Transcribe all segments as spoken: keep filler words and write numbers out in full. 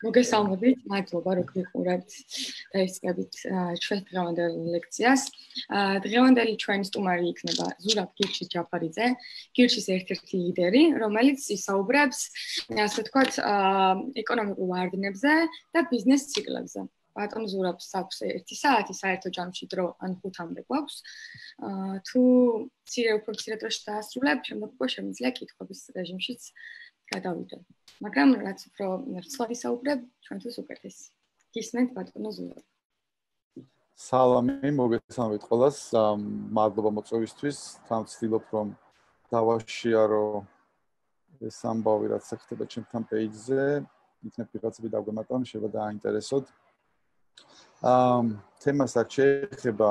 მოგესალმებით, მადლობა რომ გიყურებთ და ისწრებით ჩვენ დღევანდელ ლექციას. დღევანდელი ჩვენი სტუმარი იქნება ზურაბ გირჩის ჯაფარიძე, გირჩის ერთ-ერთი ლიდერი, რომელიც ისაუბრებს, ასე ვთქვათ, ეკონომიკურ ვარდნებზე და ბიზნეს ციკლებზე. ბატონ ზურაბს აქვს ერთი საათი საერთო ჯამში დრო, ან ხუთამდე გვაქვს. თუ მცირე უფრო მცირე დროში დაასრულებ, შემდეგ უკვე შემიძლია კითხვების რეჟიმშიც გადავიდე. მაგრამ რაც უფრო რცხვად ისაუბრებ, ჩვენთვის უკეთესი. გისმენთ ბატონო ზურაბ. სალამი, მოგესალმებით ყველას. მადლობა მოწვევისთვის. თან ვცდილობ რომ დავაშიარო ეს ამბავი, რაც ხდება ჩემთან პეიჯზე. იქნებ ვიღაცები დაგვემატონ, შეიძლება დააინტერესოთ. აა თემასაც შეეხება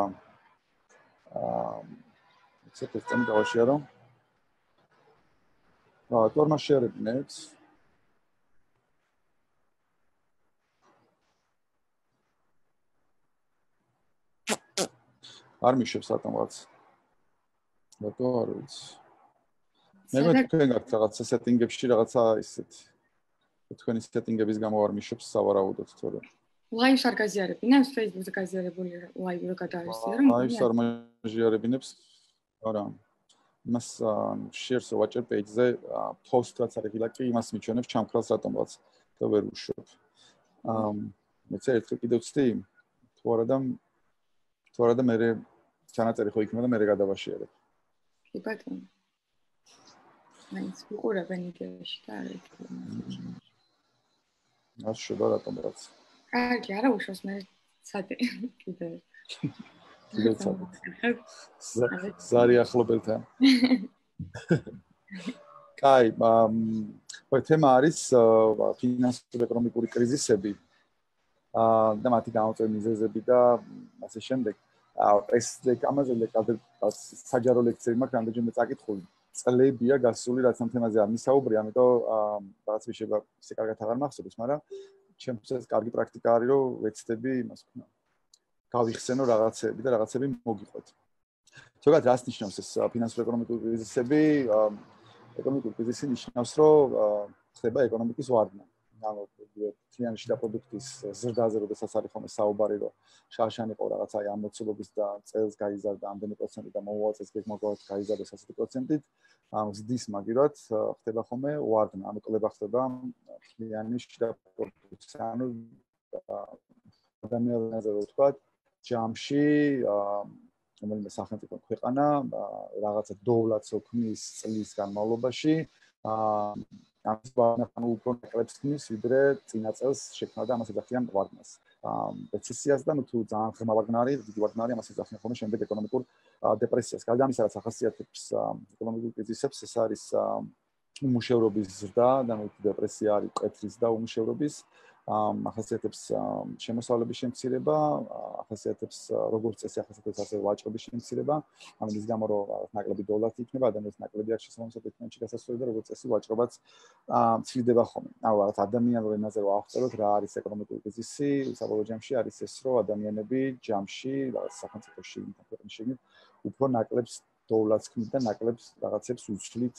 აა ცოტა წამი დავაშიარო. აა თორმა შეერებინეთ. არ მიშებს რატომღაც. რატო არ ვიცი. მე მეთქენ გაქვთ რაღაცა სეტინგებში რაღაცა ისეთი. თქვენი სეტინგების გამო არ მიშებს სავარაუდოდ თორე. ლაივს არ გაზიარებინებს, Facebook-ზე გაზიარებული ლაივი რო გადაარსია რომ ლაივს არ მაჟიარებინებს. არა. იმას share-ს ვაჭერ page-ზე, post რაც არის ლაკი, იმას მიჩვენებს ჩამქრალს რატომღაც და ვერ უშვებ. აა მეც ერთხელ კიდევ ვცდი, თუ არა და თუ არა და მე ჩანაწერი ხო იქნება და მე გადავაშიარებ. კი ბატონო. მაინც უყურებენ იდეაში და არ ერთი. ას შედა რატომღაც. კარგი, არა უშავს მე სადი კიდე. კიდე სადი. ზარი ახლობელთან. კაი, აა თემა არის ფინანსურ-ეკონომიკური კრიზისები. აა და მათი გამოწვევი მიზეზები და ასე შემდეგ. ეს ამაზე საჯარო ლექციები მაქვს, რამდენჯერმე წაკითხული. წლებია გასული, რაც ამ თემაზე არ მისაუბრე, ამიტომ რაღაც შეიძლება ისე კარგად აღარ მახსოვს, მაგრამ ჩემთვის კარგი პრაქტიკა არის, რომ ვეცდები იმას ვქნა. გავიხსენო რაღაცები და რაღაცები მოგიყვეთ. ზოგადად რას ნიშნავს ეს ფინანსურ-ეკონომიკური კრიზისები? ეკონომიკური კრიზისი ნიშნავს, რომ ხდება ეკონომიკის ვარდნა. ანუ თლიანი შიდა პროდუქტის ზრდაზე, როდესაც არის ხოლმე საუბარი, რომ შარშან იყო რაღაცა აი ამოცულობის და წელს გაიზარდა ამდენი პროცენტი და მომავალ წელს გეგმავად გაიზარდა ასეთი პროცენტით, ამ ზრდის მაგივრად ხდება ხოლმე ვარდნა, ანუ კლება ხდება თლიანი შიდა პროდუქტის, ანუ ადამიანებზე ვთქვათ, ჯამში რომელიმე სახელმწიფო ქვეყანა რაღაცა დოვლათს ოქმნის წლის განმავლობაში ამის ბანაკი უფრო ნაკლებს ხმის, ვიდრე წინა წელს შექმნა და ამას ეძახიან ვარდნას. რეცესიას და თუ ძალიან ღრმა ვარდნარი, დიდი ვარდნარი ამას ეძახიან ხოლმე შემდეგ ეკონომიკურ დეპრესიას. გარდა ამისა, რაც ახასიათებს ეკონომიკურ კრიზისებს, ეს არის უმუშევრობის ზრდა და ნუ დეპრესია არის მკვეთრის და უმუშევრობის ახასიათებს შემოსავლების შემცირება, ახასიათებს როგორც წესი ახასიათებს ასე ვაჭრობის შემცირება, ამის გამო რომ ნაკლები დოლარი იქნება, ადამიანის ნაკლები არ შესაძლოა ეკონომიკაში გასასვლელი და როგორც წესი ვაჭრობაც მცირდება ხოლმე. ანუ რაღაც ადამიანურ ენაზე რო ავხსენოთ რა არის ეკონომიკური კრიზისი, საბოლოო ჯამში არის ეს, რომ ადამიანები ჯამში რაღაც სახელმწიფოში ქვეყნებში უფრო ნაკლებს დოლარს ქმნით და ნაკლებს რაღაცებს უცვლით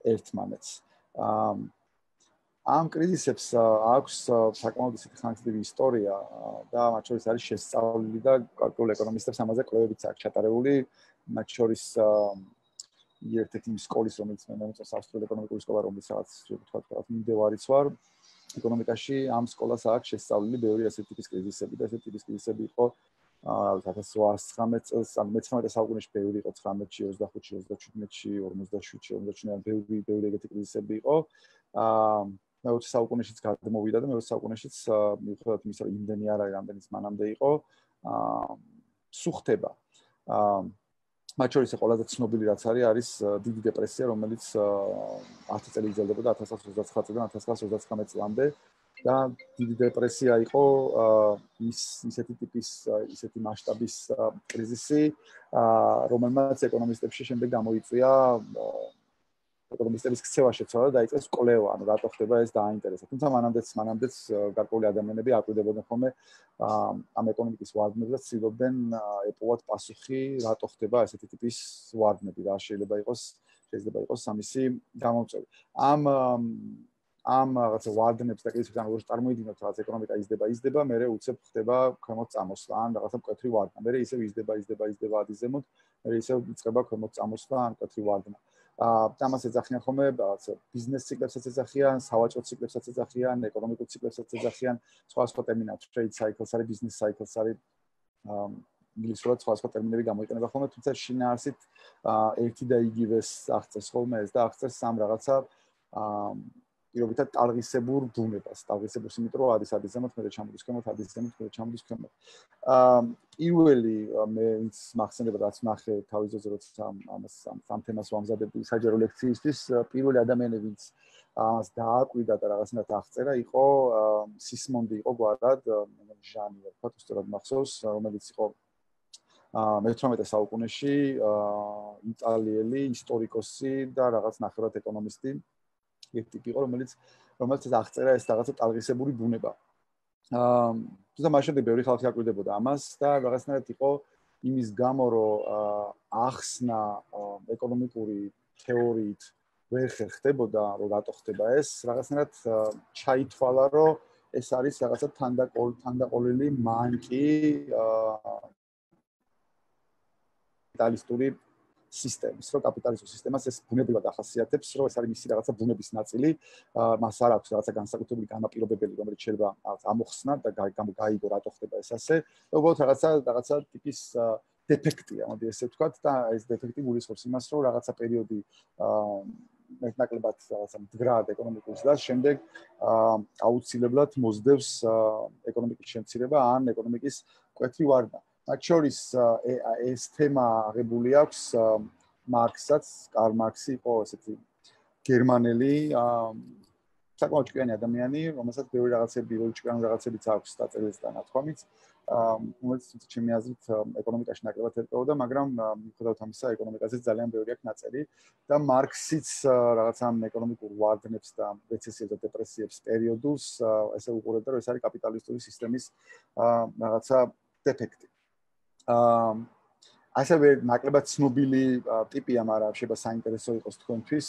ერთმანეთს. ამ კრიზისებს აქვს საკმაოდ ისეთი ხანგრძლივი ისტორია და მათ შორის არის შესწავლილი და გარკვეულ ეკონომისტებს ამაზე კვლევებიც აქვს ჩატარებული. მათ შორის ერთ-ერთი სკოლის, რომელიც მე მომწონს ავსტრიული ეკონომიკური სკოლა, რომელიც რაღაც ვთქვათ, რაღაც მიმდევარიც ვარ ეკონომიკაში, ამ სკოლას აქვს შესწავლილი ბევრი ასეთი ტიპის კრიზისები და ასეთი ტიპის კრიზისები იყო ალბათ ათას რვაასი ცხრამეტ წელს, ან მეცხრამეტე საუკუნეში ბევრი იყო ცხრამეტში, ოცდახუთში, ოცდაშვიდში, ორმოცდაშვიდში, ორმოცდაშვიდში, ბევრი ბევრი ეგეთი კრიზისები იყო. აა მეოცე საუკუნეშიც გადმოვიდა და მეოცე საუკუნეშიც მიუხედავად იმისა, რომ იმდენი არ არის, რამდენიც მანამდე იყო, აა სუხდება. აა მათ შორის ყველაზე ცნობილი რაც არის, არის დიდი დეპრესია, რომელიც ათი წელი იზრდებოდა ათას ცხრაასა ოცდაცხრა წლიდან ათას ცხრაასა ოცდაცხრამეტ წლამდე და დიდი დეპრესია იყო ის ისეთი ტიპის, ისეთი მასშტაბის კრიზისი, რომელმაც ეკონომისტებში შემდეგ გამოიწვია ეკონომისტების ქცევა შეცვალა და დაიწყეს კვლევა, ანუ რატო ხდება ეს დააინტერესა. თუმცა მანამდეც მანამდეც გარკვეული ადამიანები აკვირდებოდნენ ხოლმე ამ ეკონომიკის ვარდნებს და ცდილობდნენ ეპოვათ პასუხი, რატო ხდება ესეთი ტიპის ვარდნები, რა შეიძლება იყოს, შეიძლება იყოს ამისი გამომწვევი. ამ ამ რაღაცა ვარდნებს და კრიზისებს ან როგორ წარმოიდგინოთ რაღაც ეკონომიკა იზრდება იზრდება მე უცებ ხდება ქვემოთ წამოსვლა ან რაღაცა მკვეთრი ვარდნა მე ისევ იზრდება იზრდება იზრდება ადიზემოთ მე ისევ იწყება ქვემოთ წამოსვლა ან მკვეთრი ვარდნა აა ამას ეძახიან ხოლმე რაღაცა ბიზნეს ციკლებსაც ეძახიან სავაჭრო ციკლებსაც ეძახიან ეკონომიკურ ციკლებსაც ეძახიან სხვა სხვა ტერმინებს trade cycles არის business cycles არის აა ინგლისურად სხვა სხვა ტერმინები გამოიყენება ხოლმე თუმცა შინაარსით ერთი და იგივეს აღწევს ხოლმე ეს და აღწევს სამ რაღაცა აა პირობითად ტალღისებურ ბუნებას, ტალღისებურს, იმიტომ რომ არის ადიზემოთ, მე ჩამოდის ქვემოთ, ადიზემოთ, მე ჩამოდის ქვემოთ. აა პირველი მე ვინც მახსენდება რაც ნახე თავის ძოზე როცა ამას ამ თემას ვამზადებდი საჯარო ლექციისთვის, პირველი ადამიანი ვინც ამას დააკვირდა და რაღაცნაირად აღწერა, იყო სისმონდი იყო გვარად, მე ჟანი ვთქვათ, უბრალოდ მახსოვს, რომელიც იყო აა მეთვრამეტე საუკუნეში აა იტალიელი ისტორიკოსი და რაღაც ნახევრად ეკონომისტი ერთი იყო რომელიც რომელიც აღწერა ეს რაღაცა ტალღისებური ბუნება. აა თუმცა მაშინ ბევრი ხალხი აკვირდებოდა ამას და რაღაცნაირად იყო იმის გამო რომ ახსნა ეკონომიკური თეორიით ვერ ხერხდებოდა რომ რატო ხდება ეს რაღაცნაირად ჩაითვალა რომ ეს არის რაღაცა თანდაყოლილი მანკი აა კაპიტალისტური სისტემის, რომ კაპიტალისტურ სისტემას ეს ბუნებრივად ახასიათებს, რომ ეს არის მისი რაღაცა ბუნების ნაწილი, მას არ აქვს რაღაცა განსაკუთრებული განაპირობებელი, რომელიც შეიძლება ამოხსნა და გაიგო რატო ხდება ეს ასე. უბრალოდ რაღაცა რაღაცა ტიპის დეფექტია, მოდი ესე ვთქვათ და ეს დეფექტი გულისხმობს იმას, რომ რაღაცა პერიოდი მეტნაკლებად რაღაცა მდგრად ეკონომიკურ ზრდას, შემდეგ აუცილებლად მოსდევს ეკონომიკის შემცირება ან ეკონომიკის მკვეთრი ვარდნა. მათ შორის ეს თემა აღებული აქვს მარქსსაც, კარლ მარქსი იყო ესეთი გერმანელი საკმაოდ ჭკვიანი ადამიანი, რომელსაც ბევრი რაღაცები, ბევრი ჭკვიანი რაღაცებიც აქვს დაწერილი და ნათქვამიც, რომელიც ჩემი აზრით ეკონომიკაში ნაკლებად ერკვეოდა, მაგრამ მიუხედავად ამისა, ეკონომიკაზე ძალიან ბევრი აქვს ნაწერი და მარქსიც რაღაცა ეკონომიკურ ვარდნებს და რეცესიებს და დეპრესიებს პერიოდულს ესე უყურებდა, რომ ეს არის კაპიტალისტური სისტემის რაღაცა დეფექტი. აა ასევე ნაკლებად ცნობილი ტიპია, მაგრამ შეიძლება საინტერესო იყოს თქვენთვის.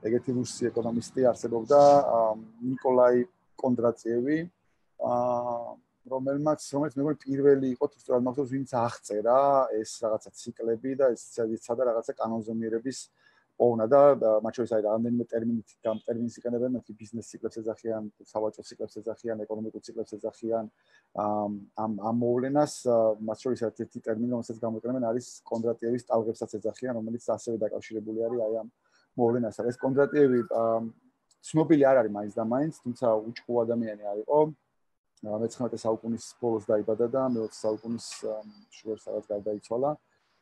ეგეთი რუსი ეკონომისტი არსებობდა ნიკოლაი კონდრატიევი, აა რომელმაც რომელიც მეგონი პირველი იყო თუ სწორად მახსოვს, ვინც აღწერა ეს რაღაცა ციკლები და ეს სადა რაღაცა კანონზომიერების პოვნა და მათ შორის არის რამდენიმე ტერმინით გამ ტერმინს იყენებენ, მათ ბიზნეს ციკლებს ეძახიან, სავაჭრო ციკლებს ეძახიან, ეკონომიკურ ციკლებს ეძახიან. ამ ამ მოვლენას მათ შორის ერთ-ერთი ტერმინი, რომელსაც გამოიყენებენ, არის კონდრატიევის ტალღებსაც ეძახიან, რომელიც ასევე დაკავშირებული არის აი ამ მოვლენასთან. ეს კონდრატიევი ცნობილი არ არის მაინც და მაინც, თუმცა უჭკუ ადამიანი არ იყო. მეცხრამეტე საუკუნის ბოლოს დაიბადა და მეოცე საუკუნის შუას რაღაც გარდაიცვალა.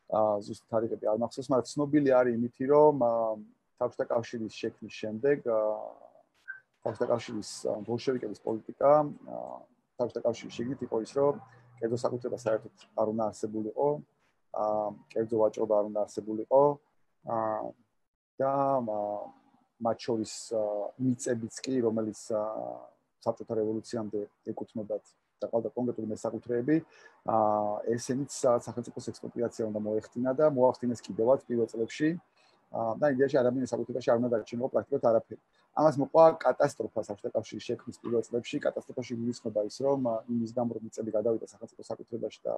აა ზუსტ თარიღები არ მახსოვს, მაგრამ ცნობილი არის იმითი, რომ საბჭოთა კავშირის შექმნის შემდეგ საბჭოთა კავშირის ბოლშევიკების პოლიტიკა საბჭოთა კავშირის შიგნით იყო ის, რომ კერძო საკუთრება საერთოდ არ უნდა არსებულიყო, აა კერძო ვაჭრობა არ უნდა არსებულიყო, აა და მათ შორის მიწებიც კი, რომელიც საბჭოთა რევოლუციამდე ეკუთვნოდათ და ყავდა კონკრეტული მესაკუთრეები, აა ესენიც სახელმწიფოს ექსპროპრიაცია უნდა მოეხდინა და მოახდინეს კიდევაც პირველ წლებში. აა და იდეაში ადამიანის საკუთრებაში არ უნდა დარჩენილიყო პრაქტიკულად არაფერი. ამას მოყვა კატასტროფა საბჭოთა კავშირის შექმნის პირველ წლებში. კატასტროფაში გულისხმობა ის, რომ იმის გამო რომ მიწები გადავიდა სახელმწიფო საკუთრებაში და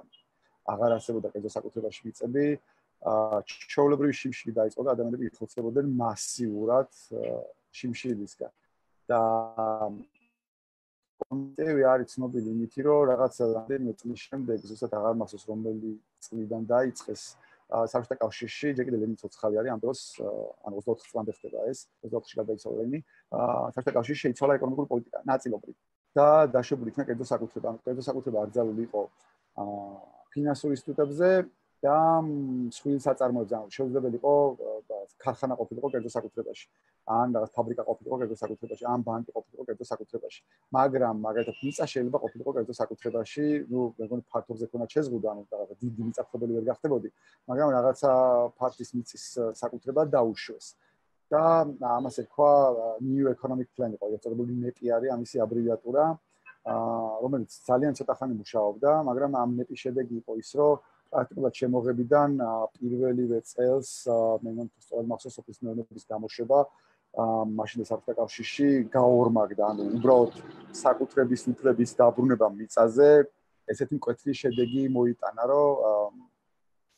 აღარ არსებობდა კერძო საკუთრებაში მიწები, აა ჩვეულებრივი შიმშილი დაიწყო და ადამიანები იხოცებოდნენ მასიურად შიმშილისგან. და კონტევი არის ცნობილი იმითი, რომ რაღაცა რამდენიმე წლის შემდეგ, ზუსტად აღარ მახსოვს რომელი წლიდან დაიწყეს საბჭოთა კავშირში, ჯერ კიდევ ლენინი ცოცხალი არის, ამ დროს ან ოცდაოთხ წლამდე ხდება ეს, ოცდაოთხში გარდაიცვალა ლენინი, საბჭოთა კავშირში შეიცვალა ეკონომიკური პოლიტიკა ნაწილობრივ და დაშვებული იქნა კერძო საკუთრება. ანუ კერძო საკუთრება აკრძალული იყო ფინანსურ ინსტიტუტებზე და მსხვილ საწარმოებზე, ანუ შეუძლებელი იყო ქარხანა ყოფილიყო კერძო საკუთრებაში, ან რაღაც ფაბრიკა ყოფილიყო კერძო საკუთრებაში, ან ბანკი ყოფილიყო კერძო საკუთრებაში. მაგრამ მაგალითად მიწა შეიძლება ყოფილიყო კერძო საკუთრებაში, ნუ მეგონი ფართობზე ქონდა შეზღუდა, ანუ რაღაც დიდი მიწათმოქმედებელი ვერ გახდებოდი, მაგრამ რაღაცა ფართის მიწის საკუთრება დაუშვეს. და ამას ერქვა New Economic Plan იყო, ეწოდებული ნეტი არის ამისი აბრევიატურა, რომელიც ძალიან ცოტა ხანი მუშაობდა, მაგრამ ამ ნეტის შედეგი იყო ის, რომ პრაქტიკულად შემოღებიდან პირველივე წელს მე მგონი სწორად მახსოვს სოფლის მეურნეობის გამოშვება მაშინ საბჭოთა კავშირში გაორმაგდა, ანუ უბრალოდ საკუთრების უფლების დაბრუნება მიწაზე ესეთი მკვეთრი შედეგი მოიტანა, რომ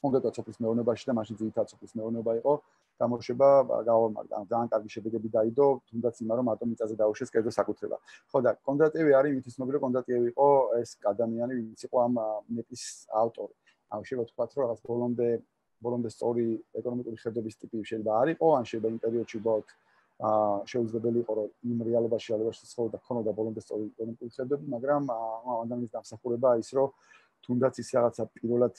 კონკრეტულად სოფლის მეურნეობაში და მაშინ ძირითადად სოფლის მეურნეობა იყო გამოშვება გაორმაგდა. ძალიან კარგი შედეგები დაიდო, თუნდაც იმან რომ მარტო მიწაზე დაუშვეს კერძო საკუთრება. ხო და კონდრატიევი არის იმით ცნობილი, რომ კონდრატიევი იყო ეს ადამიანი, ვინც იყო ამ ნეტის ავტორი. ანუ შეიძლება ვთქვათ, რომ რაღაც ბოლომდე ბოლომდე სწორი ეკონომიკური ხედობის ტიპი შეიძლება არ იყო, ან შეიძლება იმ პერიოდში უბრალოდ აა შეუძლებელი იყო, რომ იმ რეალობაში რეალობაში ცხოვრობდა ქონოდა ბოლომდე სწორი ეკონომიკური ხედები, მაგრამ ამ ადამიანის დამსახურება ის, რომ თუნდაც ის რაღაცა პირველად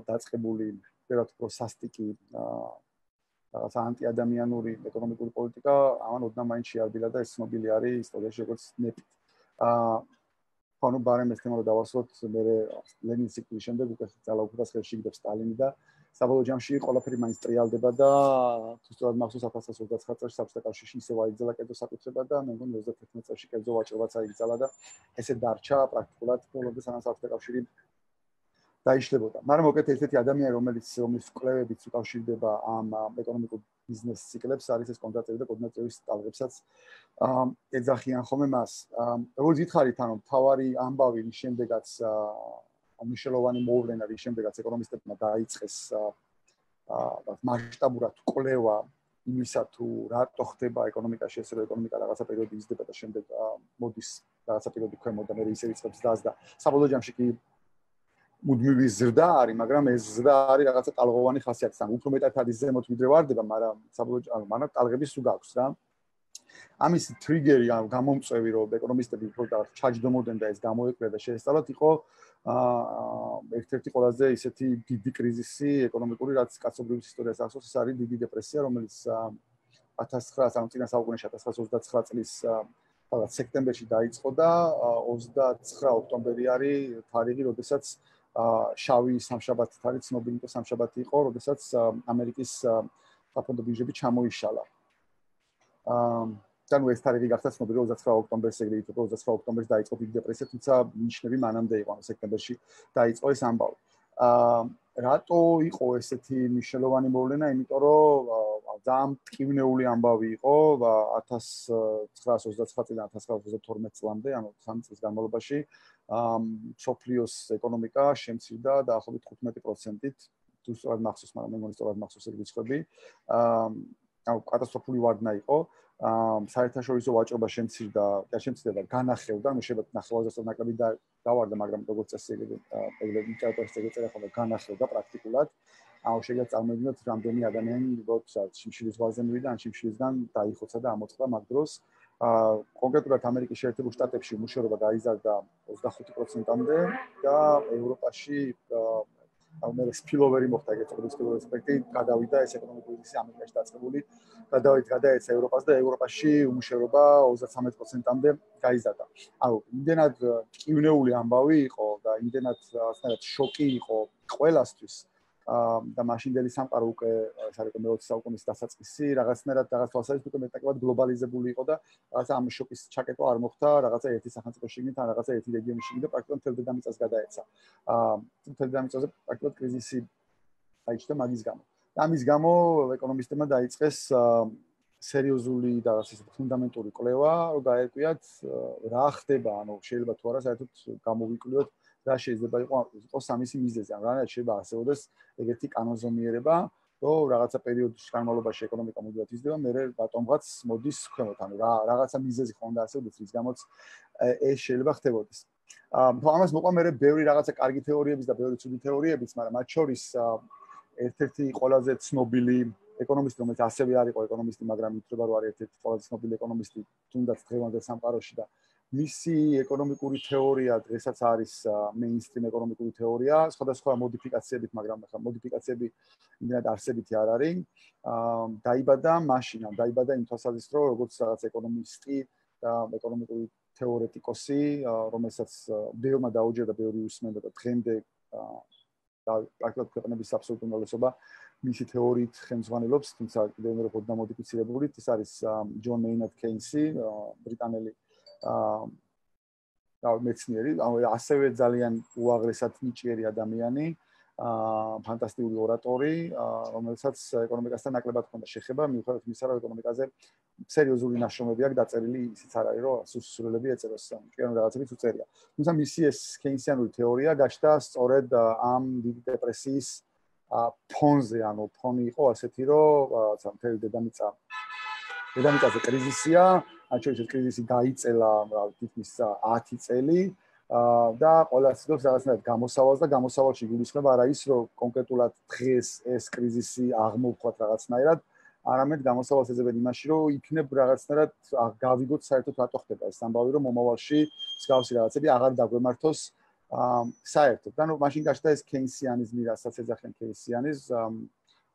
დაწყებული, პირველად უფრო სასტიკი რაღაცა ანტიადამიანური ეკონომიკური პოლიტიკა ამან ოდნავ მაინც შეარბილა და ეს ცნობილი არის ისტორიაში როგორც ნეტი. აა ანუ ბარემ ეს თემა რომ დავასვათ, მე ლენინის სიკვდილის შემდეგ უკვე ძალაუფლებას ხელში იგდებს სტალინი და საბოლოო ჯამში ყველაფერი მაინც ტრიალდება და თუ სწორად მახსოვს ათას ცხრაასა ოცდაათი წელს საბჭოთა კავშირში ისევ აიგზალა კერძო საკუთრება და მე მგონი ოცდათერთმეტ წელს კერძო ვაჭრობაც აიგზალა და ესე დარჩა პრაქტიკულად ბოლომდე სანამ საბჭოთა კავშირი დაიშლებოდა. მაგრამ მოკეთ ერთ-ერთი ადამიანი რომელიც რომლის კვლევებიც უკავშირდება ამ ეკონომიკურ ბიზნეს ციკლებს არის ეს კონდრატიევი და კონდრატიევის ტალღებსაც ეძახიან ხოლმე მას. როგორც ითხარით, ანუ თავარი ამბავი რის შემდეგაც მნიშვნელოვანი მოვლენა რის შემდეგაც ეკონომისტებმა დაიწყეს მასშტაბურად კვლევა იმისა თუ რატო ხდება ეკონომიკაში ეს რომ ეკონომიკა რაღაცა პერიოდი იზრდება და შემდეგ მოდის რაღაცა პერიოდი ქვემოთ და მე ისევ იწყებს დას და საბოლოო ჯამში კი მუდმივი ზრდა არის, მაგრამ ეს ზრდა არის რაღაცა ტალღოვანი ხასიათის. ან უფრო მეტად არის ზემოთ ვიდრე ვარდება, მაგრამ საბოლოო ანუ მანამ ტალღები სულ გაქვს რა. ამის ტრიგერი, ანუ გამომწვევი, რომ ეკონომისტები უფრო და ჩაჯდომოდნენ და ეს გამოეკვლია და შეესწავლათ, იყო აა ერთ-ერთი ყველაზე ისეთი დიდი კრიზისი ეკონომიკური, რაც კაცობრიობის ისტორიას ახსოვს, ეს არის დიდი დეპრესია, რომელიც ათას ცხრაასა ანუ წინა საუკუნეში ათას ცხრაასა ოცდაცხრა წლის რაღაც სექტემბერში დაიწყო და ოცდაცხრა ოქტომბერი არის თარიღი, როდესაც შავი სამშაბათი არის ცნობილი და სამშაბათი იყო, როდესაც ამერიკის საფონდო ბირჟები ჩამოიშალა. აა და ნუ ეს თარიღი გახდა ცნობილი ოცდაცხრა ოქტომბერს, ეგრე იყო ოცდაცხრა ოქტომბერს დაიწყო დიდი დეპრესია, თუმცა ნიშნები მანამდე იყო, ანუ სექტემბერში დაიწყო ეს ამბავი. აა რატო იყო ესეთი მნიშვნელოვანი მოვლენა? იმიტომ რომ ძალიან მტკივნეული ამბავი იყო ათას ცხრაასა ოცდაცხრა წლიდან ათას ცხრაასა ოცდათორმეტ წლამდე, ანუ სამი წლის განმავლობაში მსოფლიოს ეკონომიკა შემცირდა დაახლოებით თხუთმეტი პროცენტით, თუ სწორად მახსოვს, მაგრამ მე მგონი სწორად მახსოვს ეგ რიცხვები. აა ანუ კატასტროფული ვარდნა იყო. აა საერთაშორისო ვაჭრობა შემცირდა, და შემცირდა და განახლდა, ანუ შეიძლება ნახევარზე ნაკლები დავარდა, მაგრამ როგორც წესი ეგრე ლიტერატურის ეგრე ხოლმე განახლდა პრაქტიკულად. ანუ შეიძლება წარმოიდგინოთ, რამდენი ადამიანი უბრალოდ შიმშილის ზღვაზე მივიდა, ან შიმშილისგან დაიხოცა და ამოწყდა მაგ დროს. აა კონკრეტულად ამერიკის შეერთებულ შტატებში უმუშევრობა გაიზარდა ოცდახუთი პროცენტამდე და ევროპაში ანუ მე სპილოვერი მოხდა ეგეთ პროდუქტიული ასპექტი, გადავიდა ეს ეკონომიკური კრიზისი ამერიკაში დაწყებული, გადავიდა გადაეცა ევროპას და ევროპაში უმუშევრობა ოცდათრამეტ პროცენტამდე გაიზარდა. ანუ იმდენად მტკივნეული ამბავი იყო და იმდენად რაღაცნაირად შოკი იყო ყველასთვის. და მაშინდელი სამყარო უკვე ეს არის მეოცე საუკუნის დასაწყისი, რაღაცნაირად რაღაც თვალსაზრისით უკვე მეტაკლებად გლობალიზებული იყო და რაღაცა ამ შოკის ჩაკეტვა არ მოხდა რაღაცა ერთი სახელმწიფოს შიგნით, ან რაღაცა ერთი რეგიონის შიგნით და პრაქტიკულად მთელ დედამიწას გადაეცა. აა მთელ დედამიწაზე პრაქტიკულად კრიზისი დაიჭრა მაგის გამო. და ამის გამო ეკონომისტებმა დაიწყეს სერიოზული და რაღაცა ფუნდამენტური კვლევა, რომ გაერკვიათ რა ხდება, ანუ შეიძლება თუ არა საერთოდ გამოვიკვლიოთ რა შეიძლება იყოს ამისი მიზეზი, ან რა შეიძლება არსებობდეს ეგეთი კანონზომიერება, რომ რაღაცა პერიოდის განმავლობაში ეკონომიკა მუდმივად იზრდება, მერე ბატონღაც მოდის ქვემოთ, ანუ რა რაღაცა მიზეზი ხონდა არსებობდეს, რის გამოც ეს შეიძლება ხდებოდეს. აა ამას მოყვა მერე ბევრი რაღაცა კარგი თეორიების და ბევრი ცუდი თეორიებიც, მაგრამ მათ შორის ერთ-ერთი ყველაზე ცნობილი ეკონომისტი, რომელიც ასევე არ იყო ეკონომისტი, მაგრამ ითვლება, რომ არის ერთ-ერთი ყველაზე ცნობილი ეკონომისტი თუნდაც დღევანდელ სამყაროში და მისი ეკონომიკური თეორია დღესაც არის მეინსტრიმ ეკონომიკური თეორია, სხვადასხვა მოდიფიკაციებით, მაგრამ ახლა მოდიფიკაციები იმდენად არსებითი არ არის. აა დაიბადა მაშინ, ან დაიბადა იმ თვალსაზრისით, რომ როგორც რაღაც ეკონომისტი და ეკონომიკური თეორეტიკოსი, რომელსაც ბევრმა დაუჯერდა, ბევრი უსმენდა და დღემდე და პრაქტიკულად ქვეყნების აბსოლუტური უმრავლესობა მისი თეორიით ხელმძღვანელობს, თუმცა კიდევ უფრო ოდნავ მოდიფიცირებული. ეს არის ჯონ მეინარდ კეინსი, ბრიტანელი აა მეცნიერი, ასევე ძალიან უაღრესად ნიჭიერი ადამიანი, აა ფანტასტიკური ორატორი, რომელსაც ეკონომიკასთან ნაკლებად ჰქონდა შეხება, მიუხედავად იმისა, რომ ეკონომიკაზე სერიოზული ნაშრომები აქვს დაწერილი, ისიც არ არის, რომ სუსურელები ეწეროს, კიდევ რაღაცებიც უწერია. თუმცა მისი ეს კეინსიანური თეორია გაჩნდა სწორედ ამ დიდი დეპრესიის ფონზე, ანუ ფონი იყო ასეთი, რომ რაღაცა მთელი დედამიწა დედამიწაზე კრიზისია, მათ შორის ეს კრიზისი დაიწყება თითქმის ათი წელი. და ყველას ცდილობს რაღაცნაირად გამოსავალს და გამოსავალში გულისხმობა არა ის რომ კონკრეტულად დღეს ეს კრიზისი აღმოვხოთ რაღაცნაირად, არამედ გამოსავალს ეძებენ იმაში რომ იქნებ რაღაცნაირად გავიგოთ საერთოდ რატო ხდება ეს ამბავი რომ მომავალში მსგავსი რაღაცები აღარ დაგვემართოს საერთოდ. და ნუ მაშინ გაჩნდა ეს კეინსიანიზმი, რასაც ეძახიან კეინსიანიზმს.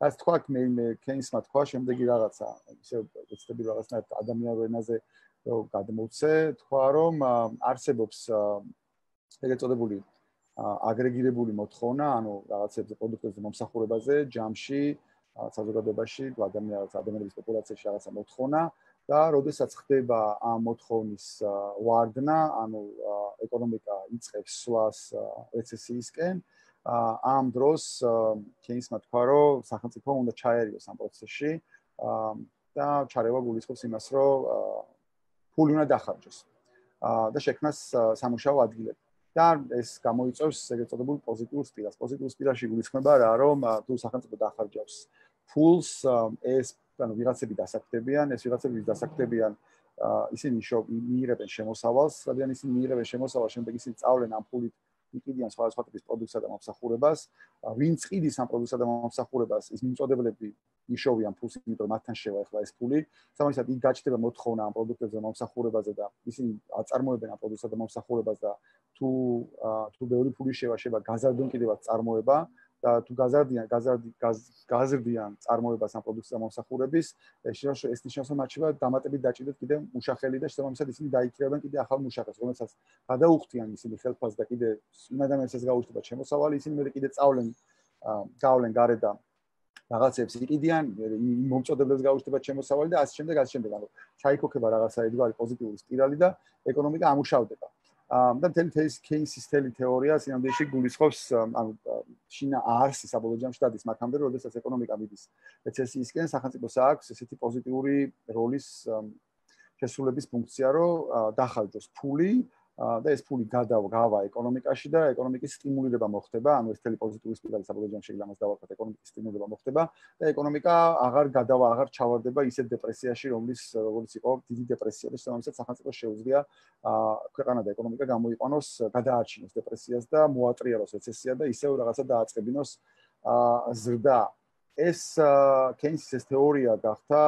რაც თქვა მე მე კეინსმა თქვა შემდეგი რაღაცა, ისე ეცდები რაღაცნაირად ადამიანურ ენაზე რომ გადმოვცე, თქვა რომ არსებობს ეგრეთ წოდებული აგრეგირებული მოთხოვნა, ანუ რაღაცებზე პროდუქტებზე მომსახურებაზე, ჯამში, საზოგადოებაში, ადამიანის ადამიანების პოპულაციაში რაღაცა მოთხოვნა და როდესაც ხდება ამ მოთხოვნის ვარდნა, ანუ ეკონომიკა იწყებს სვლას რეცესიისკენ, ამ დროს კეინსმა თქვა, რომ სახელმწიფო უნდა ჩაერიოს ამ პროცესში და ჩარევა გულისხმობს იმას, რომ ფული უნდა დახარჯოს და შექმნას სამუშაო ადგილები. და ეს გამოიწვევს ეგრეთ წოდებულ პოზიტიურ სპირალს. პოზიტიურ სპირალში გულისხმება რა, რომ თუ სახელმწიფო დახარჯავს ფულს, ეს ანუ ვიღაცები დასაქმდებიან, ეს ვიღაცები დასაქმდებიან, ისინი მიიღებენ შემოსავალს, რადგან ისინი მიიღებენ შემოსავალს, შემდეგ ისინი წავლენ ამ ფულით იყიდიან სხვადასხვა ტიპის პროდუქტსა და მომსახურებას. ვინც ყიდის ამ პროდუქტსა და მომსახურებას, ის მიმწოდებლები იშოვიან ფულს, იმიტომ რომ მათთან შევა ახლა ეს ფული. სამისად იქ გაჩნდება მოთხოვნა ამ პროდუქტებზე და მომსახურებაზე და ისინი აწარმოებენ ამ პროდუქტსა და მომსახურებას და თუ თუ ბევრი ფული შევა შევა გაზარდონ კიდევაც წარმოება და თუ გაზარდიან გაზარდი გაზრდიან წარმოებას ამ პროდუქტსა და მომსახურების, ეს ნიშნავს რომ მათ შევა დამატებით დაჭიდოთ კიდევ მუშახელი და შესაბამისად ისინი დაიქირავენ კიდევ ახალ მუშახელს, რომელსაც გადაუხდიან ისინი ხელფას და კიდევ იმ ადამიანსაც გაუჩნდებათ შემოსავალი, ისინი მე კიდევ წავლენ გავლენ გარეთ და რაღაცებს იყიდიან, იმ მომწოდებლებს გაუჩნდებათ შემოსავალი და ასე შემდეგ, ასე შემდეგ. ანუ ჩაიქოქება რაღაცა ერთგვარი პოზიტიური სპირალი და ეკონომიკა ამუშავდება. და მთელი კეინსის თელი თეორია სინამდვილეში გულისხმობს, ანუ შინა არსი საბოლოო ჯამში დადის მაგამდე, როდესაც ეკონომიკა მიდის რეცესიისკენ, სახელმწიფოს აქვს ესეთი პოზიტიური როლის შესრულების ფუნქცია, რომ დახარჯოს ფული და ეს ფული გადავა ეკონომიკაში და ეკონომიკის სტიმულირება მოხდება, ანუ ეს თელი პოზიტიური სპირალი საბოლოო ჯამში იმას დავარქვათ, ეკონომიკის სტიმულირება მოხდება და ეკონომიკა აღარ გადავა, აღარ ჩავარდება ისეთ დეპრესიაში, რომლის როგორც იყო დიდი დეპრესია და შესაბამისად სახელმწიფოს შეუძლია ქვეყანა და ეკონომიკა გამოიყვანოს, გადაარჩინოს დეპრესიას და მოატრიალოს რეცესია და ისევ რაღაცა დააწყებინოს ზრდა. ეს კეინსის ეს თეორია გახდა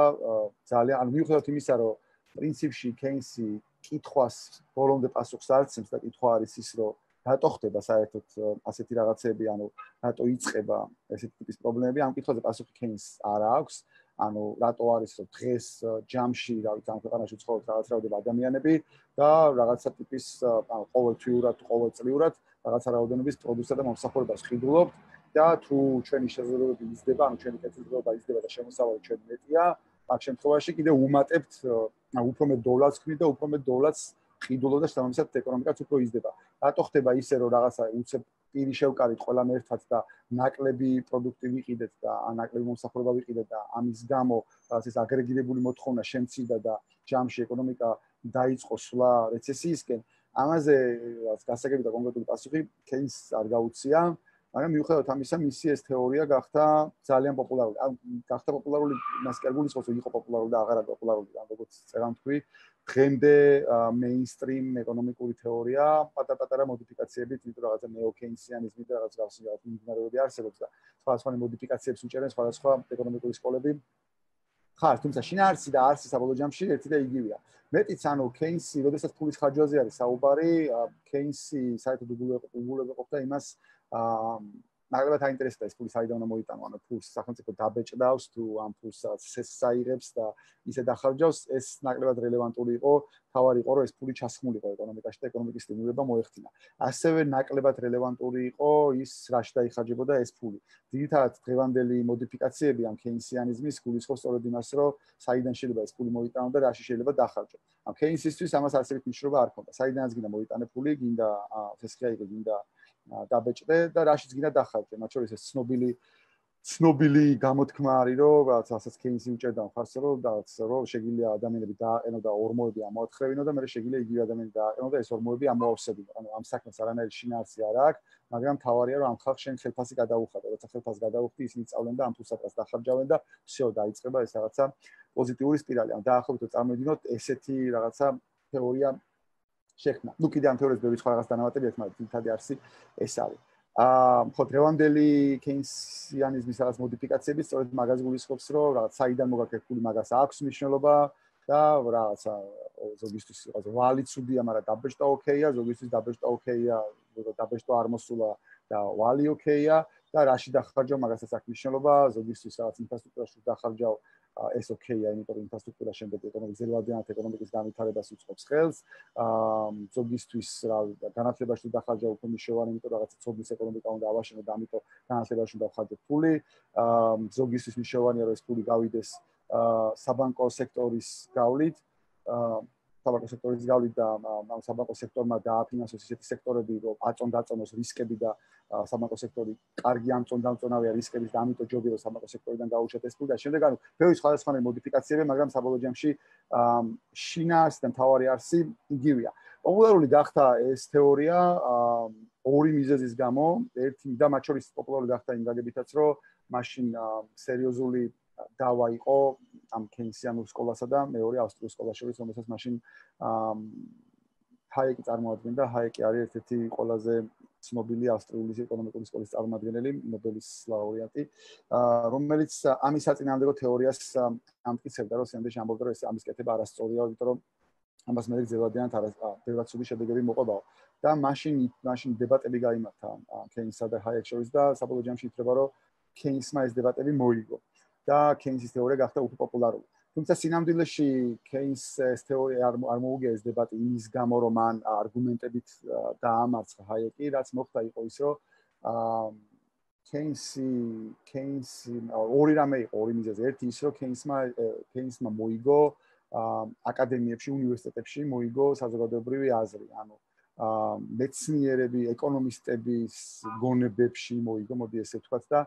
ძალიან, ანუ მიუხედავად იმისა, რომ პრინციპში კეინსი კითხვას ბოლომდე პასუხს არ ცემს და კითხვა არის ის, რომ რატო ხდება საერთოდ ასეთი რაღაცები, ანუ რატო იწყება ესეთი ტიპის პრობლემები, ამ კითხვაზე პასუხი კეინს არ აქვს. ანუ რატო არის რომ დღეს ჯამში, რა ვიცი, ამ ქვეყანაში ცხოვრობს რაღაც რაოდენობა ადამიანები და რაღაცა ტიპის, ანუ ყოველთვიურად, ყოველწლიურად რაღაცა რაოდენობის პროდუქტსა და მომსახურებას ხიდულობთ და თუ ჩვენი შესაძლებლობები იზრდება, ანუ ჩვენი კეთილდღეობა იზრდება და შემოსავალი ჩვენ მეტია, ამ შემთხვევაში კიდე უმატებთ, ანუ უფრო მეტ დოლარს ვქნით და უფრო მეტ დოლარს ხიდულობთ და შესაბამისად ეკონომიკაც უფრო იზრდება. რატო ხდება ისე, რომ რაღაცა უცებ პირი შევკარით ყველამ ერთად და ნაკლები პროდუქტი ვიყიდეთ და ნაკლები მომსახურება ვიყიდეთ და ამის გამო რაღაც ეს აგრეგირებული მოთხოვნა შემცირდა და ჯამში ეკონომიკა დაიწყო სვლა რეცესიისკენ. ამაზე გასაგები და კონკრეტული პასუხი კეინს არ გაუწია, მაგრამ მიუხედავად ამისა, მისი ეს თეორია გახდა ძალიან პოპულარული. ან გახდა პოპულარული, მას კი არ გულისხმობს, რომ იყო პოპულარული და აღარ არის პოპულარული, ან როგორც წერან თქვი, დღემდე მეინსტრიმ ეკონომიკური თეორია, პატარ-პატარა მოდიფიკაციებით, იმიტომ რაღაცა ნეო-კეინსიანიზმი და რაღაც გავსი რაღაც მიმდინარეობები არსებობს და სხვადასხვა მოდიფიკაციებს უჭერენ სხვადასხვა ეკონომიკური სკოლები. ხარ, თუმცა შინაარსი და არსი საბოლოო ჯამში ერთი და იგივეა. მეტიც, ანუ კეინსი, როდესაც ფულის ხარჯვაზე არის საუბარი, კეინსი საერთოდ უგულებელყოფდა იმას, აა ნაკლებად აინტერესებდა ეს ფული საიდან უნდა მოიტანო, ანუ ფულს სახელმწიფო დაბეჭდავს თუ ამ ფულს საიღებს და ისე დახარჯავს, ეს ნაკლებად რელევანტური იყო, თავარი იყო, რომ ეს ფული ჩასხმულიყო ეკონომიკაში და ეკონომიკის სტიმულირება მოეხდინა. ასევე ნაკლებად რელევანტური იყო ის, რაში დაიხარჯებოდა ეს ფული. ძირითადად დღევანდელი მოდიფიკაციები ამ კეინსიანიზმის გულისხმობს სწორედ იმას, რომ საიდან შეიძლება ეს ფული მოიტანო და რაში შეიძლება დახარჯო. ამ კეინსისთვის ამას არსებით მნიშვნელობა არ ქონდა. საიდანაც გინდა მოიტანე ფული, გინდა ფესხია იყო, გინდა დაბეჭდე და რაშიც გინდა დახარჯე, მათ შორის ეს ცნობილი ცნობილი გამოთქმა არის, რომ რაღაც ასაც კეინსი უჭერდა მხარს, რომ რაღაც რომ შეგვიძლია ადამიანები დააყენო და ორმოები ამოათხრევინო და მე შეგვიძლია იგივე ადამიანები დააყენო და ეს ორმოები ამოავსებინო. ანუ ამ საქმეს არანაირი შინაარსი არ აქვს, მაგრამ თავარია რომ ამ ხალხს შენ ხელფასი გადაუხადე, როცა ხელფასს გადაუხდი, ისინი წავლენ და ამ თუსაკას დახარჯავენ და всё დაიწყება ეს რაღაცა პოზიტიური სპირალი. ან დაახლოებით წარმოვიდგინოთ ესეთი რაღაცა თეორია შექმნა. ნუ კიდე ამ თეორიას ბევრი სხვა რაღაც დანავატები აქვს, მაგრამ თითქოს არსი ეს არის. აა ხო დღევანდელი კეინსიანიზმის რაღაც მოდიფიკაციები სწორედ მაგას გულისხმობს, რომ რაღაც საიდან მოგაქეკული მაგას აქვს მნიშვნელობა და რაღაცა ზოგისთვის რაღაც ვალი ცუდია, მაგრამ დაბეჭდა ოკეია, ზოგისთვის დაბეჭდა ოკეია, დაბეჭდა არ მოსულა და ვალი ოკეია და რაში დახარჯავ მაგასაც აქვს მნიშვნელობა, ზოგისთვის რაღაც ინფრასტრუქტურაში დახარჯავ ეს ოკეია, იმიტომ რომ ინფრასტრუქტურა შემდეგ ეკონომიკის ზედმეტად ეკონომიკის განვითარებას უწყობს ხელს. აა ზოგისთვის რა განათლებაში დახარჯავ უფრო მნიშვნელოვანი, იმიტომ რომ რაღაცა ცოდნის ეკონომიკა უნდა ავაშენო და ამიტომ განათლებაში დავხარჯო ფული. აა ზოგისთვის მნიშვნელოვანია რომ ეს ფული გავიდეს აა საბანკო სექტორის გავლით. აა საბანკო სექტორის გავლით და ამ საბანკო სექტორმა დააფინანსოს ისეთი სექტორები, რომ აწონ-დაწონოს რისკები და საბანკო სექტორი კარგი ამწონ-დამწონავია რისკების და ამიტომ ჯობია რომ საბანკო სექტორიდან გაუჩათ ეს ფული და შემდეგ ანუ ბევრი სხვადასხვანაირი მოდიფიკაციები, მაგრამ საბოლოო ჯამში შინაარსი და მთავარი არსი იგივეა. პოპულარული გახდა ეს თეორია ორი მიზეზის გამო, ერთი და მათ შორის პოპულარული გახდა იმ გაგებითაც, რომ მაშინ სერიოზული დავა იყო ამ კეინსიანურ სკოლასა და მეორე ავსტრიულ სკოლას შორის, რომელსაც მაშინ ჰაიკი წარმოადგენდა. ჰაიკი არის ერთ-ერთი ყველაზე ცნობილი ავსტრიული ეკონომიკური სკოლის წარმომადგენელი, ნობელის ლაურეატი, რომელიც ამის საწინააღმდეგო თეორიას ამტკიცებდა, რომ სამდეში ამბობდა, რომ ეს ამის კეთება არასწორია, იმიტომ რომ ამას მე გზელადიანად არა ბევრად ცუდი შედეგები მოყვებაო. და მაშინ მაშინ დებატები გაიმართა კეინსსა და ჰაიკს შორის და საბოლოო ჯამში ითვლება, რომ კეინსმა ეს დებატები მოიგო და კეინსის თეორია გახდა უფრო პოპულარული. თუმცა სინამდვილეში კეინსის თეორია არ არ მოუგია ეს დებატი იმის გამო, რომ მან არგუმენტებით დაამარცხა ჰაიკი, რაც მოხდა იყო ის, რომ კეინსი კეინსი ორი რამე იყო, ორი მიზეზი. ერთი ის, რომ კეინსმა კეინსმა მოიგო აკადემიებში, უნივერსიტეტებში მოიგო საზოგადოებრივი აზრი, ანუ მეცნიერები, ეკონომისტების გონებებში მოიგო, მოდი ესე ვთქვათ და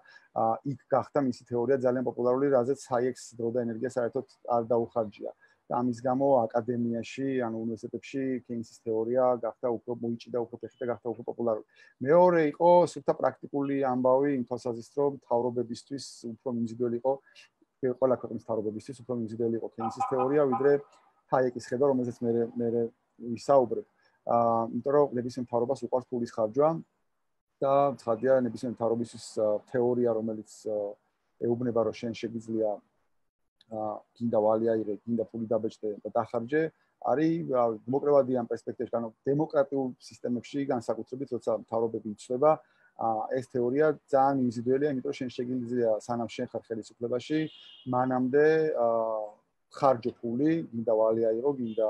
იქ გახდა მისი თეორია ძალიან პოპულარული, რაზეც ჰაიეკს დრო და ენერგია საერთოდ არ დაუხარჯია. და ამის გამო აკადემიაში, ანუ უნივერსიტეტებში კეინსის თეორია გახდა უფრო მოიჭიდა, უფრო ფეხი და გახდა უფრო პოპულარული. მეორე იყო სულთა პრაქტიკული ამბავი იმ თვალსაზრისით, რომ მთავრობებისთვის უფრო მიმზიდველი იყო ყველა ქვეყნის მთავრობებისთვის უფრო მიმზიდველი იყო კეინსის თეორია, ვიდრე ჰაიეკის ხედვა, რომელზეც მე მე ვისაუბრებ. აა იმიტომ რომ ნებისმიერ მთავრობას უყვარს ფულის ხარჯვა და ცხადია ნებისმიერ მთავრობისთვის თეორია, რომელიც ეუბნება, რომ შენ შეგვიძლია აა გინდა ვალი აიღე, გინდა ფული დაბეჭდე და დახარჯე, არის დემოკრატიული ამ პერსპექტივაში, ანუ დემოკრატიულ სისტემებში განსაკუთრებით, როცა მთავრობები იცვლება, ეს თეორია ძალიან მიმზიდველია, იმიტომ რომ შენ შეგვიძლია სანამ შენ ხარ ხელისუფლებაში, მანამდე ხარჯო ფული, გინდა ვალი აიღო, გინდა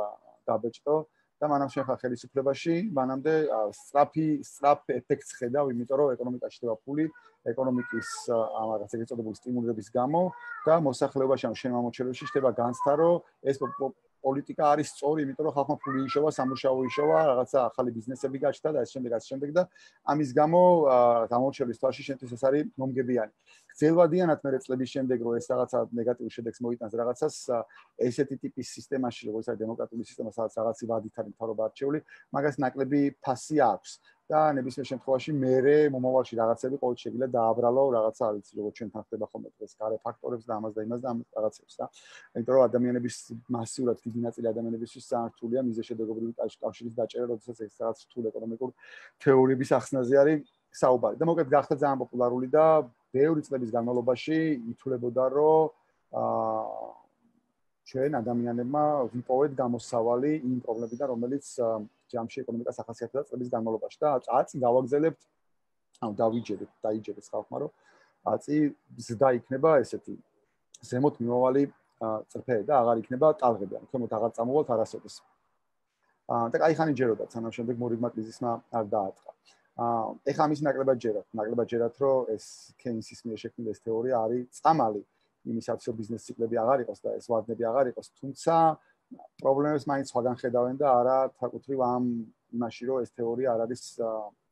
დაბეჭდო და მანამ შენ ხარ ხელისუფლებაში, მანამდე სწრაფი სწრაფ ეფექტს ხედავ, იმიტომ რომ ეკონომიკაში ხდება ფული, ეკონომიკის ამ რაღაც ეგრეთ წოდებული სტიმულების გამო და მოსახლეობაში, ანუ შენ მომოჩერებში ხდება განცდა, რომ ეს პოლიტიკა არის სწორი, იმიტომ რომ ხალხმა ფული იშოვა, სამუშაო იშოვა, რაღაცა ახალი ბიზნესები გაჩნდა და ეს შემდეგ ასე შემდეგ და ამის გამო გამორჩევის თვალში შენთვის ეს არის მომგებიანი. გრძელვადიანად მე წლების შემდეგ რომ ეს რაღაცა ნეგატიურ შედეგს მოიტანს რაღაცას ესეთი ტიპის სისტემაში, როგორც არის დემოკრატიული სისტემა, სადაც რაღაცი ვადით არის მთავრობა არჩეული, მაგას ნაკლები ფასი აქვს. და ნებისმიერ შემთხვევაში მე მომავალში რაღაცები ყოველ შეიძლება დააბრალო რაღაცა არ ვიცი როგორც ჩვენთან ხდება ხოლმე დღეს გარე ფაქტორებს და ამას და იმას და ამ რაღაცებს და იმიტომ რომ ადამიანების მასიურად დიდი ნაწილი ადამიანებისთვის საერთულია მიზეშედეგობრივი კავშირის დაჭერა, როდესაც ეს რაღაც რთულ ეკონომიკურ თეორიების ახსნაზე არის საუბარი. და მოკლედ გახდა ძალიან პოპულარული და ბევრი წლების განმავლობაში ითვლებოდა რომ აა ჩვენ ადამიანებმა ვიპოვეთ გამოსავალი იმ პრობლემებიდან, რომელიც ჯამში ეკონომიკას ახასიათებდა წლების განმავლობაში და აწი გავაგზელებთ, ანუ დავიჯერეთ, დაიჯერეთ ხალხმა, რომ აწი ზრდა იქნება ესეთი ზემოთ მიმავალი წრფე და აღარ იქნება ტალღები, ანუ ქვემოთ აღარ წამოვალთ არასოდეს. აა და კაი ხანი ჯეროდათ, სანამ შემდეგ მორიგმა კრიზისმა არ დააწყა. აა ეხლა ამის ნაკლებად ჯერათ, ნაკლებად ჯერათ, რომ ეს კეინსის მიერ შექმნილი ეს თეორია არის წამალი იმისაც, რომ ბიზნეს ციკლები აღარ იყოს და ეს ვადნები აღარ იყოს, თუმცა პრობლემებს მაინც სხვაგან ხედავენ და არა თაკუთრივ ამ იმაში რომ ეს თეორია არ არის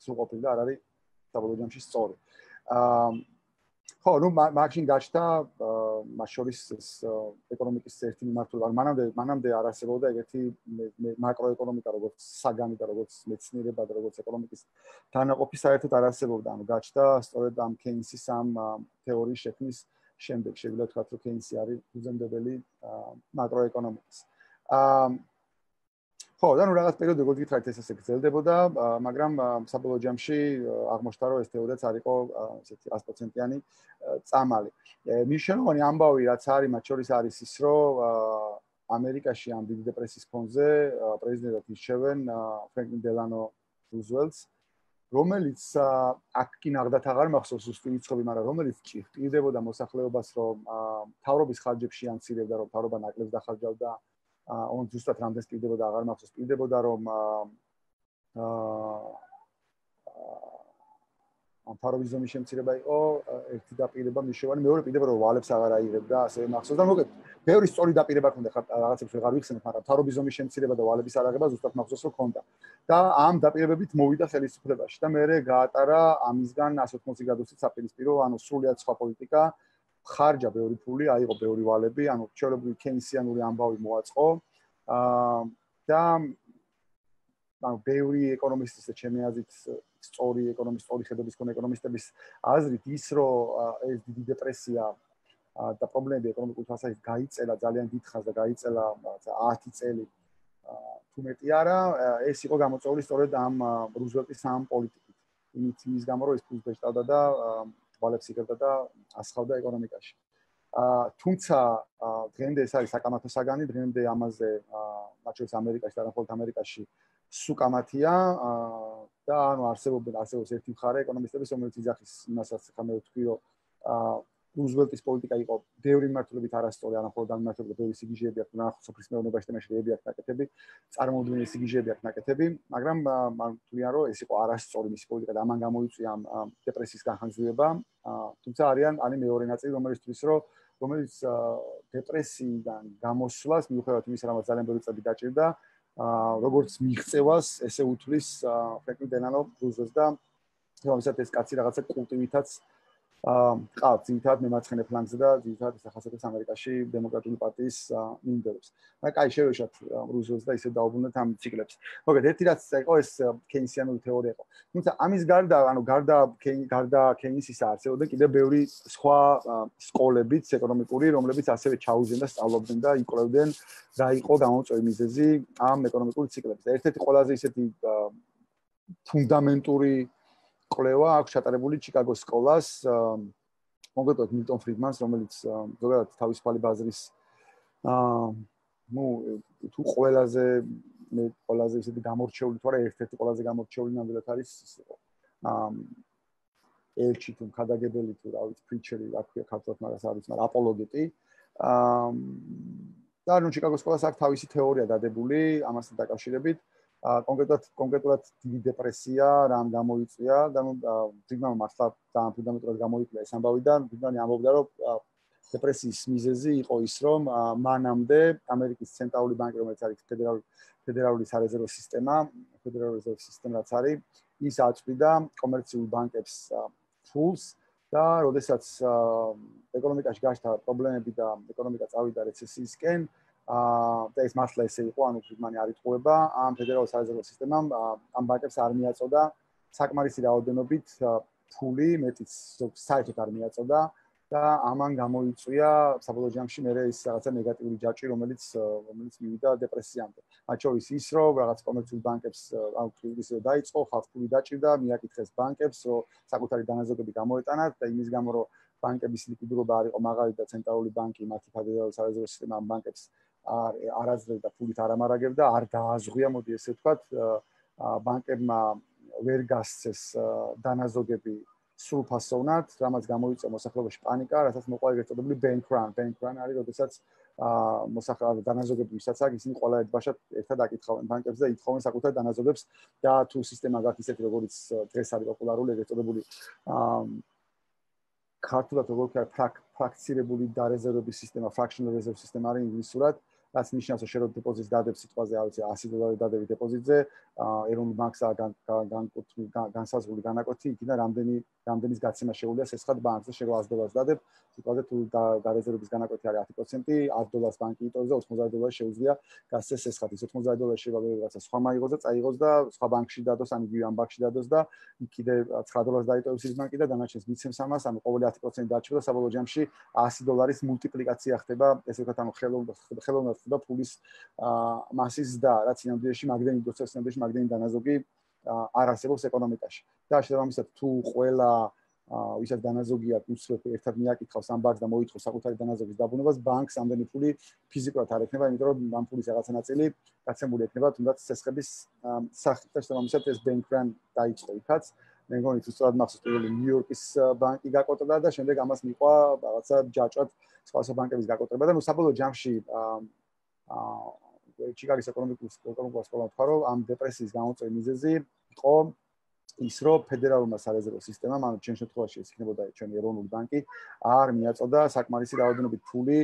სრულყოფილი და არ არის საბოლოო ჯამში სწორი. აა ხო, ну, მაშინ გაჩნდა მას შორის ეს ეკონომიკის ერთი მიმართულება. მანამდე მანამდე არ არსებობდა ეგეთი მაკროეკონომიკა, როგორც საგანი და როგორც მეცნიერება და როგორც ეკონომიკის თანაყოფი საერთოდ არ არსებობდა. ანუ გაჩნდა სწორედ ამ კეინსის ამ თეორიის შექმნის შემდეგ. შეგვიძლია ვთქვათ, რომ კეინსი არის ფუძემდებელი მაკროეკონომიკის. აა ხო, და ნუ რაღაც პერიოდი როგორც გითხრათ ეს ესე გრძელდებოდა, მაგრამ საბოლოო ჯამში აღმოჩნდა, რომ ეს თეორიაც არ იყო ესეთი sto პროცენტიანი წამალი. მნიშვნელოვანი ამბავი რაც არის, მათ შორის არის ის, რომ ამერიკაში ამ დიდი დეპრესიის ფონზე პრეზიდენტად ირჩევენ ფრენკლინ დელანო რუზველტს, რომელიც აქ კი ნახდათ აღარ მახსოვს ზუსტი რიცხვები, მაგრამ რომელიც ჭირდებოდა მოსახლეობას, რომ მთავრობის ხარჯებში ანცირებდა, რომ მთავრობა ნაკლებს დახარჯავდა on ზუსტად რამდენს პირდებოდა აღარ მახსოვს პირდებოდა რომ აა ამ ფაროვიზმის შემცირება იყო ერთი დაპირება მნიშვნელოვანი მეორე პირდება რომ ვალებს აღარ აიღებდა ასე მახსოვს და მოგეთ ბევრი სწორი დაპირება ქონდა ხარ რაღაცებს ვეღარ ვიხსენებ მაგრამ ფაროვიზმის შემცირება და ვალების არაღება ზუსტად მახსოვს რომ ქონდა და ამ დაპირებებით მოვიდა ხელისუფლებაში და მეორე გაატარა ამისგან sto ოცდაოთხ გრადუსით საპირისპირო ანუ სრულიად სხვა პოლიტიკა ხარჯა ბევრი ფული, აიღო ბევრი ვალები, ანუ ჩვეულებრივი კეინსიანური ამბავი მოაწყო. აა და ანუ ბევრი ეკონომისტის და ჩემი აზრით სწორი ეკონომისტ, სწორი ხედობის მქონე ეკონომისტების აზრით ის, რომ ეს დიდი დეპრესია და პრობლემები ეკონომიკურ თვალსაზრისით გაიწელა ძალიან დიდხანს და გაიწელა ათი წელი თუ მეტი არა, ეს იყო გამოწვეული სწორედ ამ რუზველტის ამ პოლიტიკით. იმით ის გამო რომ ეს ფულს ბეჭდავდა და ვალებს იღებდა და ასხავდა ეკონომიკაში. აა თუმცა დღემდე ეს არის საკამათო საგანი, დღემდე ამაზე მათ შორის ამერიკაში და არამხოლოდ ამერიკაში სუკამათია და ანუ არსებობენ არსებობს ერთი მხარე ეკონომისტების, რომელიც იძახის იმასაც ხა მე ვთქვი, რომ აა რუზველტის პოლიტიკა იყო ბევრი მიმართულებით არასწორი, არამხოლოდ ამ მიმართულებით ბევრი სიგიჟეები აქვს, ნახოთ სოფლის მეურნეობაში და მეშვეობები აქვს ნაკეთები, წარმოუდგენელი სიგიჟეები აქვს ნაკეთები, მაგრამ მან თვლიან, რომ ეს იყო არასწორი მისი პოლიტიკა და ამან გამოიწვია ამ დეპრესიის განხანძრევება, თუმცა არიან არის მეორე ნაწილი, რომელიც თვლის, რომ რომელიც დეპრესიიდან გამოსვლას მიუხედავად იმისა, რომ ძალიან ბევრი წელი დაჭირდა, როგორც მიღწევას, ესე უთვლის ფრენკლინ დელანო რუზველტს და რომელსაც ეს კაცი რაღაცა კულტივითაც აა ყავს ძირითადად მემარცხენე ფლანგზე და ძირითადად ახასიათებს ამერიკაში დემოკრატიული პარტიის მიმდევრებს. მაგრამ კაი შევეშოთ რუზველტს და ისე დაუბრუნდეთ ამ ციკლებს. მოგეთ ერთი რაც იყო ეს კეინსიანური თეორია იყო. თუმცა ამის გარდა, ანუ გარდა გარდა კეინსისა არსებობდა კიდევ ბევრი სხვა სკოლებიც ეკონომიკური, რომლებიც ასევე ჩაუზენ და სწავლობდნენ და იკვლევდნენ რა იყო გამოწვეული მიზეზი ამ ეკონომიკური ციკლების. ერთ-ერთი ყველაზე ისეთი ფუნდამენტური კვლევა აქვს ჩატარებული ჩიკაგოს სკოლას, კონკრეტულად მილტონ ფრიდმანს, რომელიც ზოგადად თავისუფალი ბაზრის აა ნუ თუ ყველაზე მე ყველაზე ისეთი გამორჩეული თუ არა ერთ-ერთი ყველაზე გამორჩეული ნამდვილად არის აა ელჩი თუ ხადაგებელი თუ რა ვიცი პრიჩერი რა ქვია ქართულად მაგას არის, მაგრამ აპოლოგეტი აა და ნუ ჩიკაგოს სკოლას აქვს თავისი თეორია დადებული ამასთან დაკავშირებით. კონკრეტულად კონკრეტულად დიდი დეპრესია რამ გამოიწვია და ნუ ფრიდმანმა მართლა ძალიან ფუნდამენტურად გამოიკვლია ეს ამბავი და ფრიდმანი ამბობდა რომ დეპრესიის მიზეზი იყო ის რომ მანამდე ამერიკის ცენტრალური ბანკი რომელიც არის ფედერალური ფედერალური სარეზერვო სისტემა ფედერალური რეზერვო სისტემა რაც არის ის აწვდიდა კომერციულ ბანკებს ფულს და როდესაც ეკონომიკაში გაჩნდა პრობლემები და ეკონომიკა წავიდა რეცესიისკენ აა და ეს მართლა ესე იყო, ანუ ფრიდმანი არ იტყუება ამ ფედერალურ სარეზერვო სისტემამ ამ ბანკებს არ მიაწოდა საკმარისი რაოდენობით ფული, მეტიც საერთოდ არ მიაწოდა და ამან გამოიწვია საბოლოო ჯამში მე ის რაღაცა ნეგატიური ჯაჭვი, რომელიც რომელიც მივიდა დეპრესიამდე. მათ შორის ის, რომ რაღაც კომერციულ ბანკებს ანუ ისე დაიწყო, ხალხს ფული დაჭირდა, მიაკითხეს ბანკებს, რომ საკუთარი დანაზოგები გამოეტანათ და იმის გამო, რომ ბანკების ლიკვიდურობა არ იყო მაღალი და ცენტრალური ბანკი მათი ფედერალური სარეზერვო სისტემა ამ ბანკებს არ არაძლევდა ფულით არ ამარაგებდა, არ დააზღვია, მოდი ესე ვთქვათ, ბანკებმა ვერ გასცეს დანაზოგები სრულფასოვნად, რამაც გამოიწვია მოსახლეობაში პანიკა, რასაც მოყვა ეგრეთ წოდებული bank run. Bank run არის, როდესაც მოსახლეობის დანაზოგები ვისაც აქვს, ისინი ყველა ერთბაშად ერთად აკითხავენ ბანკებს და ითხოვენ საკუთარ დანაზოგებს და თუ სისტემა გაქვს ისეთი, როგორც დღეს არის პოპულარული, ეგრეთ წოდებული ქართულად როგორ ვქარ ფრაქცირებული დარეზერვების სისტემა, fractional reserve system არის ინგლისურად. რაც ნიშნავს, რომ შენ დეპოზიტს დადებ სიტყვაზე, არ ვიცი, ასი დოლარი დადები დეპოზიტზე, ეროვნულ ბანკსა განსაზღვრული განაკვეთი, იქიდან რამდენი რამდენის გაცემა შეუძლია სესხად ბანკზე, შენ ას დოლარს დადებ, სიტყვაზე თუ დარეზერვების განაკვეთი არის ათი პროცენტი, ათ დოლარს ბანკი იტოვებს და ოცდაოთხ დოლარი შეუძლია გასცეს სესხად. ის ოცდაოთხ დოლარი შეიძლება რაღაცა სხვა მაიღოს და წაიღოს და სხვა ბანკში დადოს, ან იგივე ამ ბანკში დადოს და იქ კიდე ცხრა დოლარს დაიტოვებს ის ბანკი და დანარჩენს მიცემს ამას, ანუ ყოველი ათი პროცენტი დარჩება და საბოლოო ჯამში ასი დოლარის მულტიპლიკაცია ხდება, ესე ვთქვათ, ანუ ხელოვნურად ხდება ფულის მასის და რაც ინამდვილეში მაგდენი დოცეს ინამდვილეში მაგდენი დანაზოგი არ არსებობს ეკონომიკაში. და შესაბამისად თუ ყველა ვისაც დანაზოგია უცებ ერთად მიაკითხავს ამ ბანკს და მოითხოვს საკუთარი დანაზოგის დაბრუნებას, ბანკს ამდენი ფული ფიზიკურად არ ექნება, იმიტომ რომ ამ ფულის რაღაცა ნაწილი გაცემული ექნება თუნდაც სესხების სახით და შესაბამისად ეს bank run დაიწყო იქაც. მე მგონი თუ სწორად მახსოვს პირველი ნიუ-იორკის ბანკი გაკოტრდა და შემდეგ ამას მიყვა რაღაცა ჯაჭვად სხვა ბანკების გაკოტრება და ნუ საბოლოო ჯამში აა ჩიკაგოს ეკონომიკური ეკონომიკური სკოლა თქვა რომ ამ დეპრესიის გამოწვევის მიზეზი იყო ის რომ ფედერალურმა სარეზერვო სისტემამ, ანუ ჩვენ შემთხვევაში ეს იქნებოდა ჩვენი ეროვნული ბანკი, არ მიაწოდა საკმარისი რაოდენობით ფული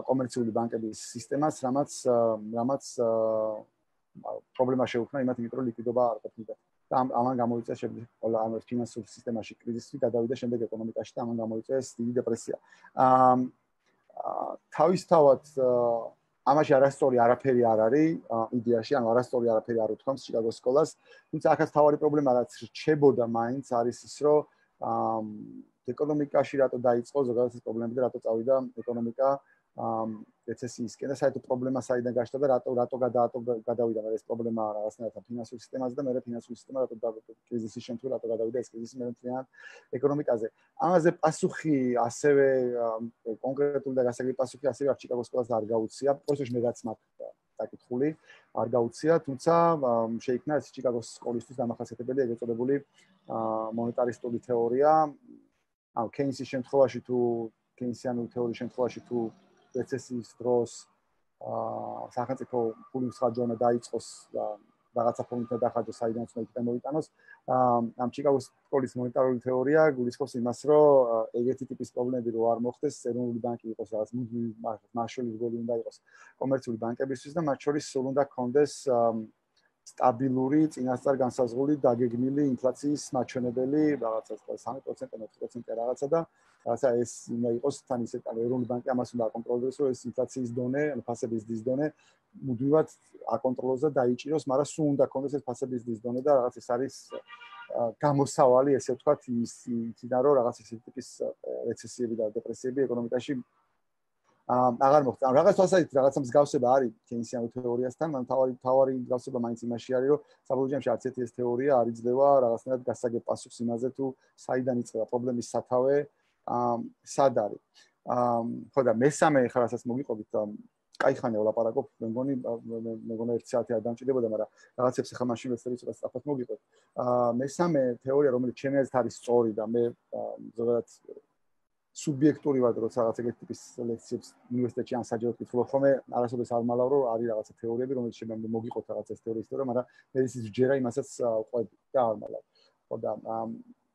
კომერციული ბანკების სისტემას, რამაც რამაც პრობლემა შეუქმნა იმათ, იმიტომ რომ ლიკვიდობა არ ყოფნიდა. და ამან გამოიწვია შემდეგ ყველა ამ ფინანსურ სისტემაში კრიზისი, გადავიდა შემდეგ ეკონომიკაში და ამან გამოიწვია დიდი დეპრესია. აა თავისთავად ამაში არასწორი არაფერი არ არის იდეაში, ანუ არასწორი არაფერი არ უთქვამს ჩიკაგოს სკოლას, თუმცა ახაც თავარი პრობლემა რაც რჩებოდა მაინც არის ის, რომ ეკონომიკაში რატო დაიწყო ზოგადად ეს პრობლემები და რატო წავიდა ეკონომიკა რეცესიისკენ და საერთოდ პრობლემა საიდან გაჩნდა და რატო რატო გადავიდა მე ეს პრობლემა რაღაცნაირად ფინანსური სისტემაზე და მე ფინანსური სისტემა რატო კრიზისის შემთხვევაში რატო გადავიდა ეს კრიზისი მე მთლიანად ეკონომიკაზე. ამაზე პასუხი ასევე კონკრეტული და გასაგები პასუხი ასევე არ ჩიკაგოს სკოლას არ გაუწია. პროცესში მე რაც მაქვს დაკითხული არ გაუწია, თუმცა შეიქმნა ეს ჩიკაგოს სკოლისთვის დამახასიათებელი ეგრეთ წოდებული მონეტარისტული თეორია. ანუ კეინსის შემთხვევაში თუ კეინსიანული თეორიის შემთხვევაში თუ რეცესიის დროს აა სახელმწიფო ფულის ხარჯვა დაიწყოს და რაღაცა ფონდთან დახარჯოს, საიდანაც უნდა მოიტანოს. ამ ჩიკაგოს სკოლის მონეტარული თეორია გულისხმობს იმას, რომ ეგეთი ტიპის პრობლემები რო არ მოხდეს, ეროვნული ბანკი იყოს რაღაც მაშული რგოლი უნდა იყოს კომერციული ბანკებისთვის და მათ შორის სულ უნდა გქონდეს სტაბილური, წინასწარ განსაზღვრული, დაგეგმილი ინფლაციის მაჩვენებელი, რაღაცა სამი პროცენტი, ოთხი პროცენტი რაღაცა და რაღაცა ეს უნდა იყოს თან ისე ეროვნული ბანკი ამას უნდა აკონტროლოს, რომ ეს ინფლაციის დონე, ანუ ფასების დის დონე მუდმივად აკონტროლოს და დაიჭიროს, მაგრამ სულ უნდა გქონდეს ეს ფასების დის დონე და რაღაც ეს არის გამოსავალი, ესე ვთქვათ, ისიდან რომ რაღაც ისეთი ტიპის რეცესიები და დეპრესიები ეკონომიკაში აღარ მოხდა. ან რაღაც თვალსაზრისით რაღაცა მსგავსება არის კეინსიანულ თეორიასთან, მაგრამ თავარი თავარი მსგავსება მაინც იმაში არის, რომ საბოლოო ჯამში არც ერთი ეს თეორია არ იძლევა რაღაცნაირად გასაგებ პასუხს იმაზე, თუ საიდან იწყება პრობლემის სათავე, სად არის. ხო და მესამე ხარ რასაც მოგიყვებით, კაი ხანია ვლაპარაკობ, მე მგონი მე მგონი ერთი საათი არ დამჭირდებოდა, მაგრამ რაღაცებს ახლა მაშინ ვეცდები ცოტა სწრაფად მოგიყვეთ. მესამე თეორია, რომელიც ჩემი აზრით არის სწორი და მე ზოგადად სუბიექტურივად როცა რაღაც ეგეთი ტიპის ლექციებს უნივერსიტეტში ან საჯაროდ ვკითხულობ ხოლმე, არასოდეს არ მალავ რომ არის რაღაცა თეორიები, რომელიც შეიძლება მოგიყოთ რაღაცა ეს თეორიის თეორია, მაგრამ მე ის ჯერა იმასაც ვყვები და არ მალავ. ხო და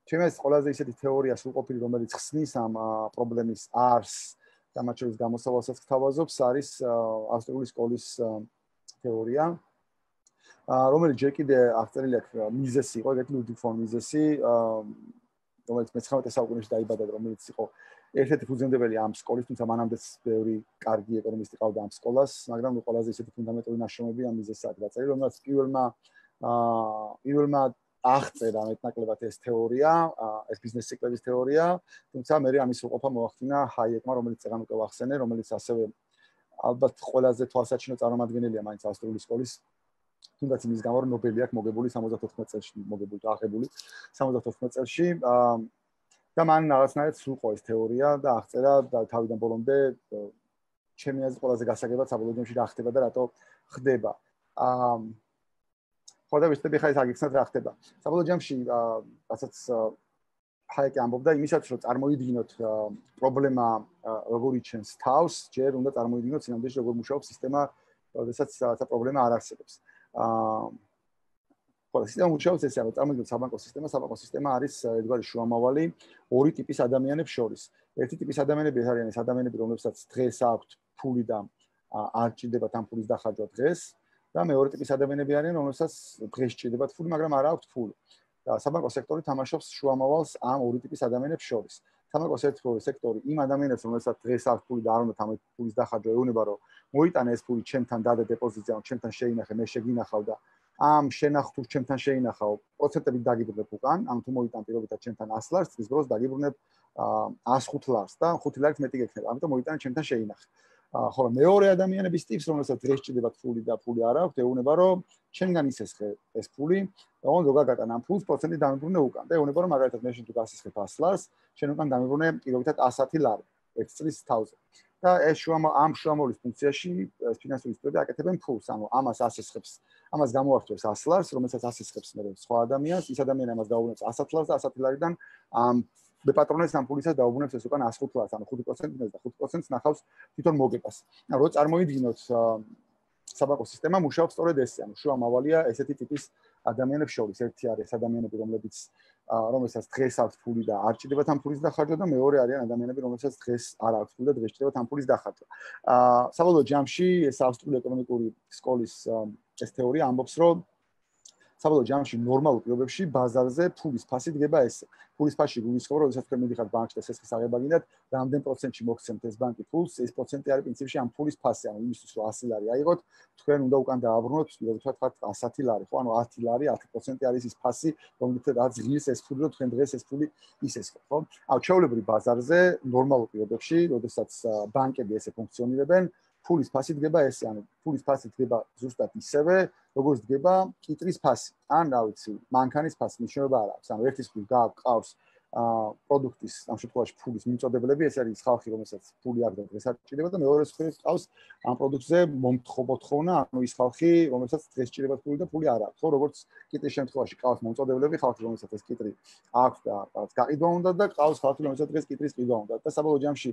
ჩემს ყველაზე ისეთი თეორია სრულყოფილი, რომელიც ხსნის ამ პრობლემის არსს და მათ შორის გამოსავალსაც გთავაზობს, არის ავსტრიული სკოლის თეორია, რომელიც ჯერ კიდე აღწერილი აქვს მიზესი იყო, ეგეთი ლუდვიგ ფონ მიზესი, რომელიც მეცხრამეტე საუკუნეში დაიბადა, რომელიც იყო ერთ-ერთი ფუძემდებელი ამ სკოლის, თუმცა მანამდეც ბევრი კარგი ეკონომისტი ყავდა ამ სკოლას, მაგრამ ნუ ყველაზე ისეთი ფუნდამენტური ნაშრომები ამ მიზეზს აქვს დაწერილი, რომელიც პირველმა პირველმა აღწერა მეტნაკლებად ეს თეორია, ეს ბიზნეს ციკლების თეორია, თუმცა მე ამის უყოფა მოახდინა ჰაიეკმა, რომელიც წეგან უკვე ვახსენე, რომელიც ასევე ალბათ ყველაზე თვალსაჩინო წარმომადგენელია მაინც ავსტრიული სკოლის, თუნდაც იმის გამო, რომ ნობელი აქვს მოგებული სამოცდათოთხმეტ წელში, მოგებული და აღებული სამოცდათოთხმეტ წელში და მან რაღაცნაირად სრულყო ეს თეორია და აღწერა თავიდან ბოლომდე ჩემი აზრით ყველაზე გასაგებად საბოლოო ჯამში რა ხდება და რატო ხდება. ხო და ვისწრები ხა ეს აგიხსნათ რა ხდება. საბოლოო ჯამში რასაც ჰაიკი ამბობდა იმისაც, რომ წარმოიდგინოთ პრობლემა როგორ იჩენს თავს, ჯერ უნდა წარმოიდგინოთ სინამდვილეში როგორ მუშაობს სისტემა, როდესაც რაღაცა პრობლემა არ არსებობს. აა ყველა სისტემა მუშაობს ესე, რომ წარმოიდგინოთ საბანკო სისტემა, საბანკო სისტემა არის ერთგვარი შუამავალი ორი ტიპის ადამიანებს შორის. ერთი ტიპის ადამიანები არიან ეს ადამიანები, რომლებსაც დღეს აქვთ ფული და არ ჭირდებათ ამ ფულის დახარჯვა დღეს და მეორე ტიპის ადამიანები არიან, რომელსაც დღეს ჭირდებათ ფული, მაგრამ არ აქვთ ფული. და საბანკო სექტორი თამაშობს შუამავალს ამ ორი ტიპის ადამიანებს შორის. საბანკო სექტორი იმ ადამიანებს, რომელსაც დღეს აქვს ფული და არ უნდათ ამ ფულის დახარჯვა, ეუბნება, რომ მოიტანე ეს ფული ჩემთან დადე დეპოზიტზე, ან ჩემთან შეინახე, მე შეგინახავ და ამ შენახ თუ ჩემთან შეინახავ, პროცენტებით დაგიბრუნებ უკან, ან თუ მოიტან პირობითად ჩემთან ას ლარს, წლის დროს დაგიბრუნებ ას ხუთ ლარს და ხუთი ლარით მეტი გექნება. ამიტომ მოიტანე ჩემთან შეინახე. ხოლო მეორე ადამიანების ტიპს, რომელსაც დღეს ჭირდებათ ფული და ფული არ აქვს, ეუბნება, რომ შენგან ისესხე ეს ფული და უნდა გაგატან ამ ფულს პროცენტი დამიბრუნე უკან. და ეუბნება, რომ მაგალითად მე შენ თუ გასისხებ ას ლარს, შენ უკან დამიბრუნე პირობითად ასათი ლარი ერთ წლის თავზე. და ეს შუამავ ამ შუამავლის ფუნქციაში ფინანსური ინსტიტუტები აკეთებენ ფულს, ანუ ამას ასესხებს, ამას გამოართვევს ას ლარს, რომელსაც ასესხებს მე სხვა ადამიანს, ის ადამიანი ამას დაუბრუნებს ასათი ლარს და ასათი ლარიდან ამ ბეპატრონეს ამ ფულისას დაუბრუნებს ეს უკან ას ხუთ ლარს, ანუ ხუთი პროცენტი და ხუთი პროცენტს ნახავს თვითონ მოგებას. ანუ რო წარმოიდგინოთ საბანკო სისტემა მუშაობს სწორედ ესე, ანუ შუამავალია ესეთი ტიპის ადამიანებს შორის. ერთი არის ადამიანები, რომლებიც რომელსაც დღეს აქვს ფული და არ ჭირდებათ ამ ფულის დახარჯვა და მეორე არიან ადამიანები, რომელსაც დღეს არ აქვს ფული და დღეს ჭირდებათ ამ ფულის დახარჯვა. აა საბოლოო ჯამში ეს ავსტრიული ეკონომიკური სკოლის ეს თეორია ამბობს, რომ საბოლოო ჯამში ნორმალურ პირობებში ბაზარზე ფულის ფასი დგება ესე. ფულის ფასი გულისხმობა, როდესაც თქვენ მიდიხართ ბანკში და სესხის აღება გინდათ, რამდენ პროცენტში მოგცემთ ეს ბანკი ფულს, ეს პროცენტი არის პრინციპში ამ ფულის ფასი, ანუ იმისთვის რომ ასი ლარი აიღოთ, თქვენ უნდა უკან დააბრუნოთ, პირობითად თქვათ ასათი ლარი, ხო? ანუ ათი ლარი, ათი პროცენტი არის ის ფასი, რომელთაც ღირს ეს ფული, რომ თქვენ დღეს ეს ფული ისესხოთ, ხო? ანუ ჩვეულებრივ ბაზარზე ნორმალურ პირობებში, როდესაც ბანკები ესე ფუნქციონირებენ, ფულის ფასი დგება ესე, ანუ ფულის ფასი დგება ზუსტად ისევე, როგორც დგება კიტრის ფასი. ან რა ვიცი, მანქანის ფასი მნიშვნელობა არ აქვს. ანუ ერთის ფული გააყავს აა პროდუქტის, ამ შემთხვევაში ფულის მიმწოდებლები, ეს არის ხალხი, რომელსაც ფული აქვს და დღეს არ ჭირდება და მეორე მხრივ ყავს ამ პროდუქტზე მომთხოვნა, ანუ ის ხალხი, რომელსაც დღეს ჭირდება ფული და ფული არ აქვს. ხო, როგორც კიტრის შემთხვევაში ყავს მომწოდებლები, ხალხი, რომელსაც ეს კიტრი აქვს და რაღაც გაყიდვა უნდა და ყავს ხალხი, რომელსაც დღეს კიტრის ყიდვა უნდა და საბოლოო ჯამში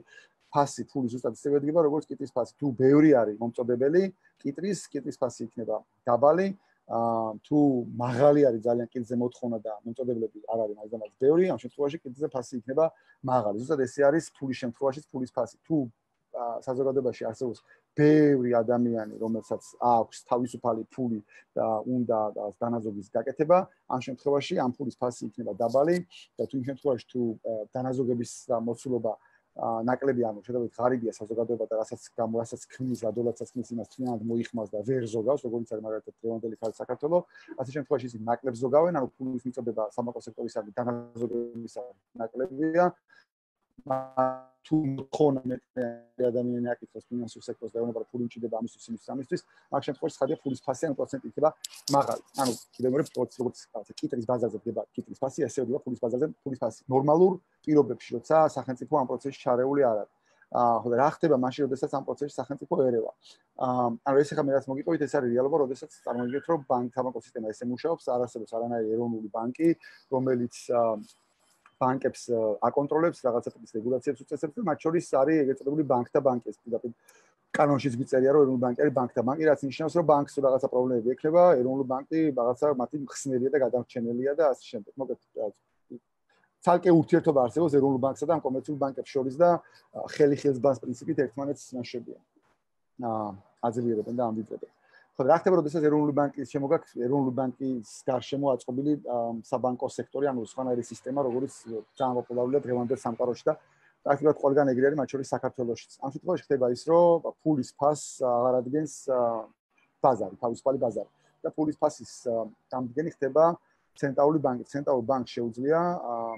ფასი ფული ზუსტად ისევე დგება, როგორც კიტრის ფასი. თუ ბევრი არის მომწოდებელი, კიტრის კიტრის ფასი იქნება დაბალი. აა თუ მაღალი არის ძალიან კიტზე მოთხოვნა და მომწოდებლები არ არის მაგ დამაც ბევრი, ამ შემთხვევაში კიტზე ფასი იქნება მაღალი. ზუსტად ესე არის ფულის შემთხვევაშიც ფულის ფასი. თუ საზოგადოებაში არსებობს ბევრი ადამიანი, რომელსაც აქვს თავისუფალი ფული და უნდა დანაზოგის გაკეთება, ამ შემთხვევაში ამ ფულის ფასი იქნება დაბალი და თუ იმ შემთხვევაში თუ დანაზოგების მოცულობა ნაკლები, ანუ შედარებით ღარიბია საზოგადოება და რასაც გამოასაც ქმნის, რადოლაცაც ქმნის იმას თლიანად მოიხმას და ვერ ზოგავს, როგორც არის მაგალითად დღევანდელი ხალხი საქართველოს, ასე შემთხვევაში ისინი ნაკლებს ზოგავენ, ანუ ფულის მიწოდება საბანკო სექტორისადმი დანაზოგებისა ნაკლებია. თუ მოთხოვნა მეტი ადამიანი აკითხოს ფინანსურ სექტორს და ეუბნება, რომ ფული უჭირდება ამისთვის, იმისთვის, ამისთვის, მაგ შემთხვევაში ხადია ფულის ფასი ან პროცენტი იქნება მაღალი. ანუ კიდევ მეორე პროცენტი, როგორც კიტრის ბაზარზე დგება კიტრის ფასი, ასევე დგება ფულის ბაზარზე ფულის ფასი. ნორმალურ პირობებში, როცა სახელმწიფო ამ პროცესში ჩარეული არ არის. აა ხო და რა ხდება მაშინ, როდესაც ამ პროცესში სახელმწიფო ერევა. აა ანუ ეს ახლა მე რაც მოგიტყობით, ეს არის რეალობა, როდესაც წარმოგიდგენთ, რომ ბანკ საბანკო სისტემა ესე მუშაობს, არ არსებობს არანაირი ეროვნული ბანკი, რომელიც ბანკებს აკონტროლებს, რაღაცა ტიპის რეგულაციებს უწესებს და მათ შორის არის ეგრეთ წოდებული ბანკთა ბანკი, ეს პირდაპირ კანონშიც მიწერია, რომ ეროვნული ბანკი არის ბანკთა ბანკი, რაც ნიშნავს, რომ ბანკს რაღაცა პრობლემები ექნება, ეროვნული ბანკი რაღაცა მათი მხსნელია და გადამრჩენელია და ასე შემდეგ. მოგეთ ცალკე ურთიერთობა არსებობს ეროვნულ ბანკსა და ამ კომერციულ ბანკებს შორის და ხელი ხელს ბანს პრინციპით ერთმანეთს ნაშებიან. აა აძლიერებენ და ამბიძებენ. ხო და რა ხდება, როდესაც ეროვნული ბანკის შემოგაქვს ეროვნული ბანკის გარშემო აწყობილი საბანკო სექტორი, ანუ სხვანაირი სისტემა, როგორც ძალიან პოპულარულია დღევანდელ სამყაროში და პრაქტიკულად ყველგან ეგრე არის, მათ შორის საქართველოშიც. ამ შემთხვევაში ხდება ის, რომ ფულის ფასს აღარ ადგენს ბაზარი, თავისუფალი ბაზარი. და ფულის ფასის დამდგენი ხდება ცენტრალური ბანკი. ცენტრალურ ბანკს შეუძლია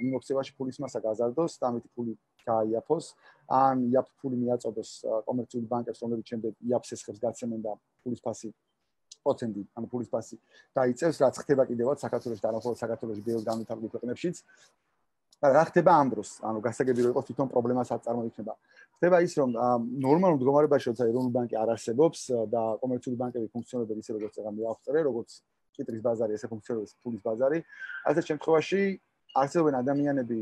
მიმოქცევაში ფულის მასა გაზარდოს და ამით ფული გაიაფოს, ან იაფ ფული მიაწოდოს კომერციული ბანკებს, რომლებიც შემდეგ იაფს ესხებს გაცემენ და ფულის ფასი პროცენტი, ანუ ფულის ფასი დაიწევს, რაც ხდება კიდევაც საქართველოში და არა მხოლოდ საქართველოში, ბევრ განვითარებულ ქვეყნებშიც. და რა ხდება ამ დროს? ანუ გასაგები რომ იყოს თვითონ პრობლემას არ წარმოიქმნება. ხდება ის, რომ ნორმალურ მდგომარეობაში, როცა ეროვნული ბანკი არ არსებობს და კომერციული ბანკები ფუნქციონირებენ ისე, როგორც წეგა მიაღწევენ, როგორც კიტრის ბაზარი, ესე ფუნქციონირებს ფულის ბაზარი. ასეთ შემთხვევაში არსებობენ ადამიანები,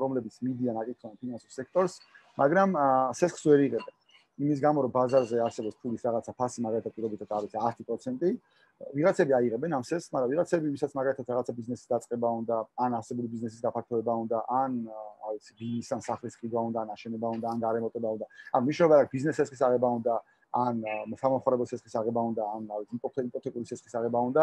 რომლებიც მიდიან აკითხავენ ფინანსურ სექტორს, მაგრამ სესხს ვერ იღებენ. იმის გამო, რომ ბაზარზე არსებობს ფულის რაღაცა ფასი, მაგალითად პირობითად არის ათი პროცენტი, ვიღაცები აიღებენ ამ სესხს, მაგრამ ვიღაცები, ვისაც მაგალითად რაღაცა ბიზნესის დაწყება უნდა, ან არსებული ბიზნესის გაფართოება უნდა, ან რა ვიცი, ბიზნეს ან სახლის ყიდვა უნდა, ან აშენება უნდა, ან გარემოტება უნდა. ან მნიშვნელობა აქვს ბიზნეს სესხის აღება უნდა, ან სამომხმარებლო სესხის აღება უნდა, ან იპოთეკური სესხის აღება უნდა,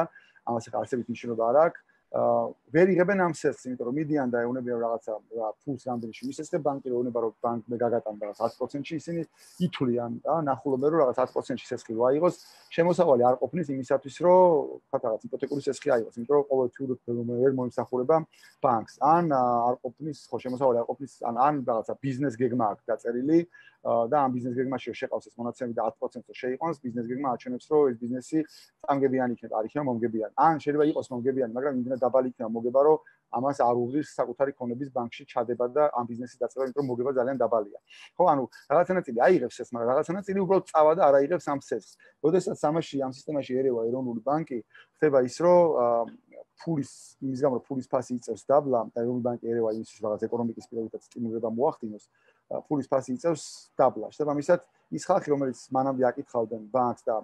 ამას ახლა არსებით მნიშვნელობა არ აქვს. ვერ იღებენ ამ სესხს, იმიტომ რომ მიდიან და ეუბნებიან რაღაცა ფულს რამდენში მისესხებ ბანკი, ეუბნება რომ ბანკი გაგატანდა რაღაც ათი პროცენტში, ისინი ითვლიან და ნახულობენ რომ რაღაც ათი პროცენტში სესხი რო აიღოს, შემოსავალი არ ყოფნის იმისათვის, რომ რაღაც იპოთეკური სესხი აიღოს, იმიტომ რომ ყოველთვის ვერ მოიმსახურება ბანკს. ან არ ყოფნის, ხო შემოსავალი არ ყოფნის, ან ან რაღაცა ბიზნეს გეგმა აქვს დაწერილი და ამ ბიზნეს გეგმაში შეყავს ეს მონაცემები და ათი პროცენტს შეიყვანს, ბიზნეს გეგმა აჩვენებს, რომ ეს ბიზნესი წამგებიანი იქნება, არ იქნება მომგებიანი. ან შეიძლება იყოს მომგებიანი, მაგრამ იმდენად დაბალი იქნება მოგება, რომ ამას არ უღრის საკუთარი ქონების ბანკში ჩადება და ამ ბიზნესის დაწყება, იმიტომ რომ მოგება ძალიან დაბალია. ხო, ანუ რაღაცანაირი აიღებს ეს, მაგრამ რაღაცანაირი უბრალოდ წავა და არ აიღებს ამ სესხს. როდესაც ამაში ამ სისტემაში ერევა ეროვნული ბანკი, ხდება ის, რომ ფულის იმის გამო, რომ ფულის ფასი იწევს დაბლა და ეროვნული ბანკი ერევა იმის, რომ რაღაც ეკონომიკის პირობითად სტიმულირება მოახდინოს, ფულის ფასი იწევს დაბლა. შესაბამისად, ის ხალხი, რომელიც მანამდე აკითხავდნენ ბანკს და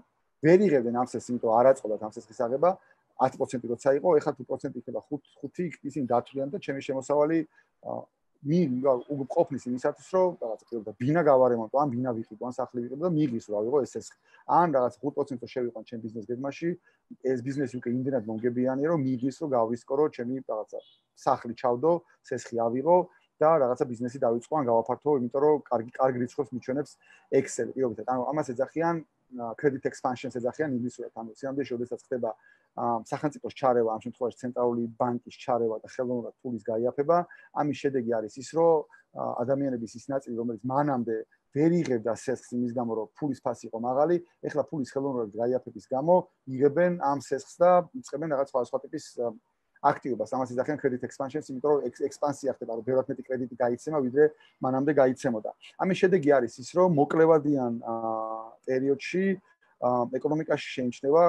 ვერ იღებდნენ ამ სესხს, იმიტომ არ აწყობათ ამ სესხის აღება, ათი პროცენტი როცა იყო, ეხლა თუ პროცენტი იქნება ხუთი, ისინი დათვლიან და ჩემი შემოსავალი მი ყოფნის იმისათვის, რომ რაღაცა პირობდა ბინა გავარემონტო, ან ბინა ვიყიდო, ან სახლი ვიყიდო და მიღის რა ვიღო ეს სესხი. ან რაღაც ხუთ პროცენტს შევიყვან ჩემ ბიზნეს გეგმაში, ეს ბიზნესი უკვე იმდენად მომგებიანია, რომ მიღის რომ გავისკო, რომ ჩემი რაღაცა სახლი ჩავდო, სესხი ავიღო და რაღაცა ბიზნესი დავიწყო, ან გავაფართო, იმიტომ რომ კარგი კარგი რიცხვებს მიჩვენებს Excel პირობითად. ანუ ამას ეძახიან credit expansion-ს ეძახიან ინგლისურად. ანუ სინამდვილეში, როდესაც ხდება სახელმწიფოს ჩარევა, ამ შემთხვევაში ცენტრალური ბანკის ჩარევა და ხელოვნურად ფულის გაიაფება, ამის შედეგი არის ის, რომ ადამიანების ის ნაწილი, რომელიც მანამდე ვერ იღებდა სესხს იმის გამო, რომ ფულის ფასი იყო მაღალი, ეხლა ფულის ხელოვნურად გაიაფების გამო იღებენ ამ სესხს და იწყებენ რაღაც სხვადასხვა ტიპის აქტივობას. ამას ეძახიან credit expansion-ს, იმიტომ რომ ექსპანსია ხდება, რომ ბევრად მეტი კრედიტი გაიცემა, ვიდრე მანამდე გაიცემოდა. ამის შედეგი არის ის, რომ მოკლევადიან პერიოდში ეკონომიკაში შეიმჩნევა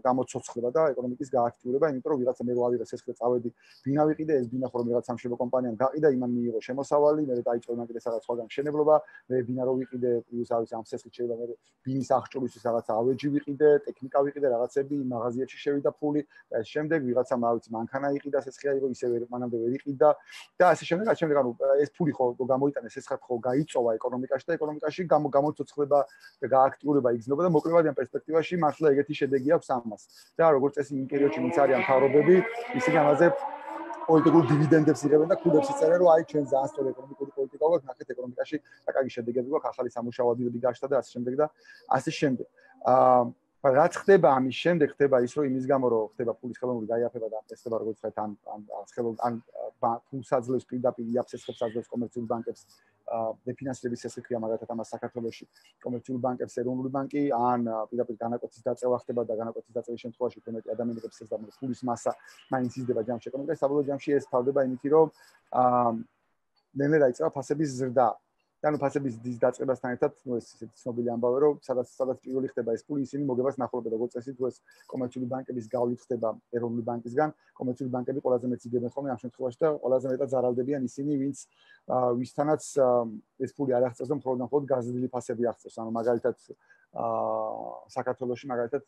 გამოცოცხლება და ეკონომიკის გააქტიურება, იმიტომ რომ ვიღაცა მე რო ავიღე სესხი და წავედი ბინა ვიყიდე, ეს ბინა ხომ ვიღაცა სამშობლო კომპანიამ გაყიდა, იმან მიიღო შემოსავალი, მე დაიწყო იმან კიდე სადაც სხვაგან მშენებლობა, მე ბინა რო ვიყიდე, პლუს არის ამ სესხით შეიძლება მე ბინის აღჭურვისთვის რაღაცა ავეჯი ვიყიდე, ტექნიკა ვიყიდე, რაღაცები, მაღაზიებში შევიდა ფული და ეს შემდეგ ვიღაცა მავიცი მანქანა იყიდა, სესხი აიღო, ისე ვერ მანამდე ვერ იყიდა და ასე შემდეგ, ასე შემდეგ, ანუ ეს ფული ხო გამოიტანეს, სესხად ხო გაიწოვა ეკონომიკაში და ეკონომიკაში გამოცოცხლება და გააქტიურება იგრძნობა და მოკლევადიან პერსპექტივაში მართლა ეგეთი შედეგი აქვს ამას. და როგორც წესი იმ პერიოდში ვინც არიან მთავრობები, ისინი ამაზე პოლიტიკურ დივიდენდებს იღებენ და ქუდებს იწერენ, რომ აი ჩვენ ძალიან სწორი ეკონომიკური პოლიტიკა გვაქვს, ნახეთ ეკონომიკაში და კარგი შედეგები გვაქვს, ახალი სამუშაო ადგილები გაჩნდა და ასე შემდეგ და ასე შემდეგ. აა რაც ხდება ამის შემდეგ, ხდება ის, რომ იმის გამო, რომ ხდება ფულის ხელოვნური გაიაფება და ეს ხდება როგორც ხეთ ან ან ხელოვნ ან ფულს აძლევს პირდაპირ იაფსესხებს აძლევს კომერციულ ბანკებს დეფინანსირების სესხი ქვია, მაგალითად ამას საქართველოში კომერციულ ბანკებს ეროვნული ბანკი ან პირდაპირ განაკვეთის დაწევა ხდება და განაკვეთის დაწევის შემთხვევაში უფრო მეტი ადამიანებს ეს და ფულის მასა მაინც იზრდება ჯამში ეკონომიკაში, საბოლოო ჯამში ეს თავდება იმით, რომ აა ნელ-ნელა დაიწყება ფასების ზრდა. ანუ ფასების დის დაწყებასთან ერთად, ნუ ეს ისეთი ცნობილი ამბავი, რომ სადაც სადაც პირველი ხდება ეს ფული, ისინი მოგებას ნახულობენ, როგორც წესი, თუ ეს კომერციული ბანკების გავლით ხდება ეროვნული ბანკისგან, კომერციული ბანკები ყველაზე მეტს იგებენ ხოლმე ამ შემთხვევაში და ყველაზე მეტად ზარალდებიან ისინი, ვინც ვისთანაც ეს ფული არ აღწევს და მხოლოდ მხოლოდ გაზრდილი ფასები აღწევს. ანუ მაგალითად აა საქართველოში მაგალითად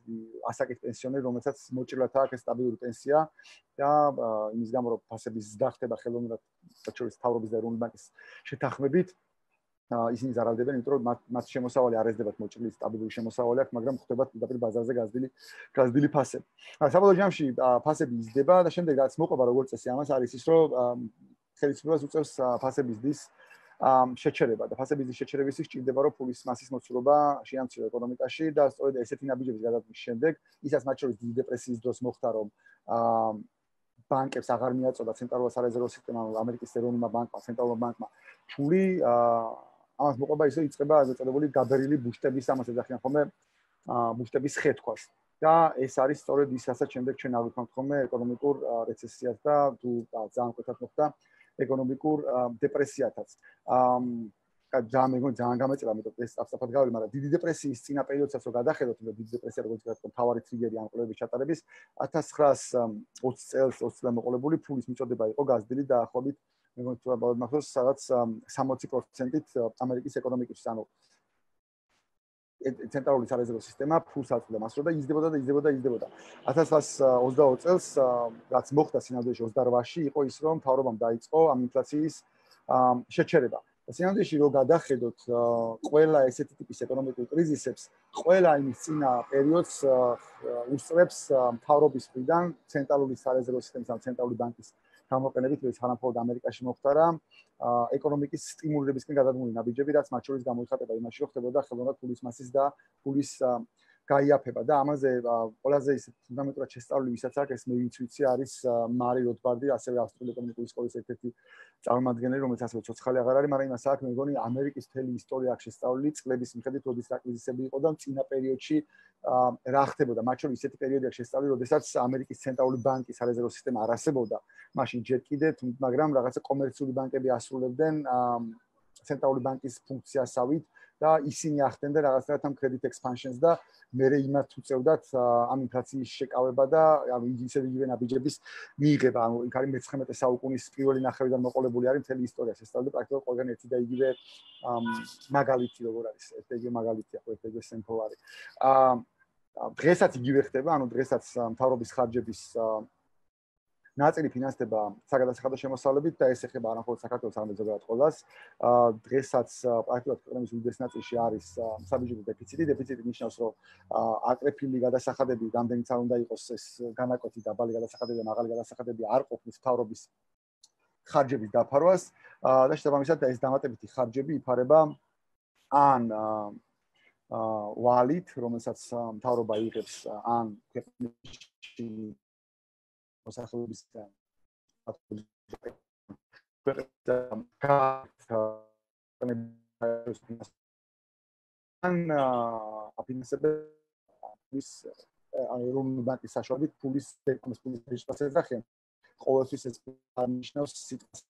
ასაკის პენსიონერი, რომელსაც მოჭრილად აქვს სტაბილური პენსია და იმის გამო, რომ ფასების ზრდა ხდება ხელოვნურად, საერთოდ თავრობის და ეროვნული ბანკის შეთანხმებით, ისინი ზარალდებენ, იმიტომ რომ მათ შემოსავალი არ ეძებათ მოჭრილი სტაბილური შემოსავალი აქვს, მაგრამ ხდება პირდაპირ ბაზარზე გაზრდილი გაზრდილი ფასები. საბოლოო ჯამში ფასები იზრდება და შემდეგ რაც მოყვება როგორც წესი ამას არის ის, რომ ხელისუფლებას უწევს ფასების დის შეჩერება და ფასების დის შეჩერების სჭირდება, რომ ფულის მასის მოცულობა შეამციროს ეკონომიკაში და სწორედ ესეთი ნაბიჯების გადადგმის შემდეგ, ისაც მათ შორის დიდი დეპრესიის დროს მოხდა, რომ ბანკებს აღარ მიაწოდა ცენტრალურ სარეზერვო სისტემამ, ამერიკის ეროვნულმა ბანკმა, ცენტრალურ ბანკმა ფული ამას მოყვება ისე იწყება ეგრეთ წოდებული გაბერილი ბუშტების ამას ეძახიან ხოლმე ბუშტების ხეთქვას და ეს არის სწორედ ის, რასაც შემდეგ ჩვენ ავიქნებთ ხოლმე ეკონომიკურ რეცესიას და თუ ძალიან კვეთად მოხდა ეკონომიკურ დეპრესიათაც. ძალიან მეგონი ძალიან გამეწევა, მეტყვი ეს სწრაფად გაველი, მაგრამ დიდი დეპრესიის წინა პერიოდსაც რო გადახედოთ, და დიდი დეპრესია როგორც ვთქვათ, მთავარი ტრიგერი ამ კვლევების ჩატარების ათას ცხრაასი ოცი წელს ოცი წლამდე მოყოლებული ფულის მიწოდება იყო გაზრდილი დაახლოებით მეგონი თუ ალბათ მახსოვს სადაც სამოცი პროცენტით ამერიკის ეკონომიკის, ანუ ცენტრალური სარეზერვო სისტემა ფულს აწვდიდა მასრო და იზრდებოდა და იზრდებოდა და იზრდებოდა. ათას ცხრაასი ოცდაოთხ წელს რაც მოხდა სინამდვილეში ოცდაოთხში იყო ის, რომ მთავრობამ დაიწყო ამ ინფლაციის შეჩერება. სინამდვილეში რო გადახედოთ ყველა ესეთი ტიპის ეკონომიკურ კრიზისებს, ყველა იმის წინა პერიოდს უსწრებს მთავრობის მხრიდან ცენტრალური სარეზერვო სისტემის ან ცენტრალური ბანკის გამოყენებით, რომელიც თანამფლობელად ამერიკაში მოხდა, ეკონომიკის სტიმულირებისკენ გადადგმული ნაბიჯები, რაც მათ შორის გამოიხატება იმაში, რომ ხდებოდა ხელოვნურად ფულის მასის და ფულის გაიაფება და ამაზე ყველაზე ისე ფუნდამენტურად შესწავლილი ვისაც აქვს ეს მე ვინც ვიცი არის მარი როთბარდი, ასევე ავსტრიული ეკონომიკური სკოლის ერთ-ერთი წარმომადგენელი, რომელიც ასევე ცოცხალი აღარ არის, მაგრამ იმას აქვს მე მგონი ამერიკის მთელი ისტორია აქვს შესწავლილი წლების მიხედვით, როდის რა კრიზისები იყო და წინა პერიოდში რა ხდებოდა. მათ შორის ისეთი პერიოდი აქვს შესწავლილი, როდესაც ამერიკის ცენტრალური ბანკის სარეზერვო სისტემა არ არსებობდა, მაშინ ჯერ კიდევ, მაგრამ რაღაცა კომერციული ბანკები ასრულებდნენ ცენტრალური ბანკის ფუნქციასავით და ისინი ახდენდნენ რაღაცნაირად ამ credit expansions და მერე იმათ უწევდათ ამ ინფლაციის შეკავება და ანუ ისე იგივე ნაბიჯების მიიღება. ანუ იქ არის მეცხრამეტე საუკუნის პირველი ნახევრიდან მოყოლებული არის მთელი ისტორია შესწავლილი პრაქტიკულად ყველგან ერთი და იგივე მაგალითი როგორ არის ერთ და იგივე მაგალითია ხო ერთ და იგივე sample არის. აა დღესაც იგივე ხდება, ანუ დღესაც მთავრობის ხარჯების ნაწილი ფინანსდება საგადასახადო შემოსავლებით და ეს ეხება არა მხოლოდ საქართველოს, არამედ ზოგადად ყველას. დღესაც პრაქტიკულად ქვეყნის უდიდეს ნაწილში არის საბიუჯეტო დეფიციტი. დეფიციტი ნიშნავს, რომ აკრეფილი გადასახადები, რამდენიც არ უნდა იყოს ეს განაკვეთი დაბალი გადასახადები და მაღალი გადასახადები არ ყოფნის მთავრობის ხარჯების დაფარვას და შესაბამისად ეს დამატებითი ხარჯები იფარება ან ვალით, რომელსაც მთავრობა იღებს ან ქვეყნებში მოსახლეობისგან ან აფინანსების ეროვნული ბანკის საშუალებით ფულის ფულის რეჟისტრაციას დახიან. ყოველთვის ეს ნიშნავს სიტყვას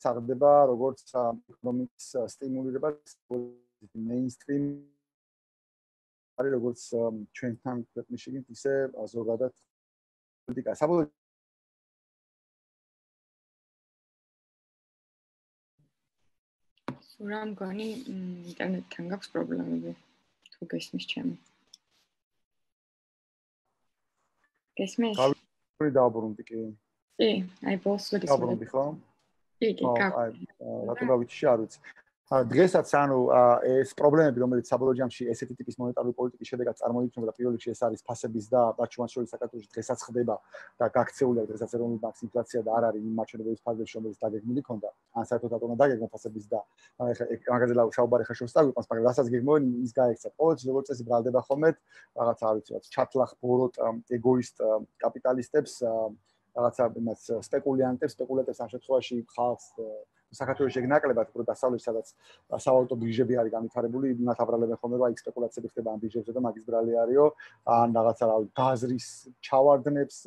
საღდება როგორც ეკონომიკის სტიმულირება mainstream არის როგორც ჩვენთან ქვეყნში ისე ზოგადად პოლიტიკა. საბოლოოდ სურა მგონი ინტერნეტთან გაქვს პრობლემები თუ გესმის ჩემი. გესმის? გავი დააბრუნდი კი. კი, აი ბოლოს გესმის. დააბრუნდი ხო? კი, კი, აი რატო გავიჩი არ ვიცი. დღესაც ანუ ეს პრობლემები, რომელიც საბოლოო ჯამში ესეთი ტიპის მონეტარული პოლიტიკის შედეგად წარმოიქმნება და პირველ რიგში ეს არის ფასების და ბარჩევანს შორის საქართველოში დღესაც ხდება და გაქცეულია დღესაც ეროვნული ბანკის ინფლაცია და არ არის იმ მაჩვენებლების ფარგლებში, რომელიც დაგეგმილი ქონდა. ან საერთოდ რატომ დაგეგმა ფასების და ეხლა მაგაზე საუბარი ხა შორს წავიყვანს, მაგრამ რასაც გეგმოვენ ის გაიქცა. ყოველთვის როგორც წესი ბრალდება ხოლმე რაღაც არ ვიცი, რაღაც ჩათლახ ბოროტ ეგოისტ კაპიტალისტებს, რაღაცა იმას სპეკულიანტებს, სპეკულატებს ამ შემთხვევაში ხალხს საქართველოს შეგნაკლებად უფრო დასავლეთში, სადაც სავალუტო ბირჟები არის განვითარებული, იმათ აბრალებენ ხოლმე, რომ აი სპეკულაციები ხდება ამ ბირჟებზე და მაგის ბრალი არისო, ან რაღაცა რა გაზრის ჩავარდნებს,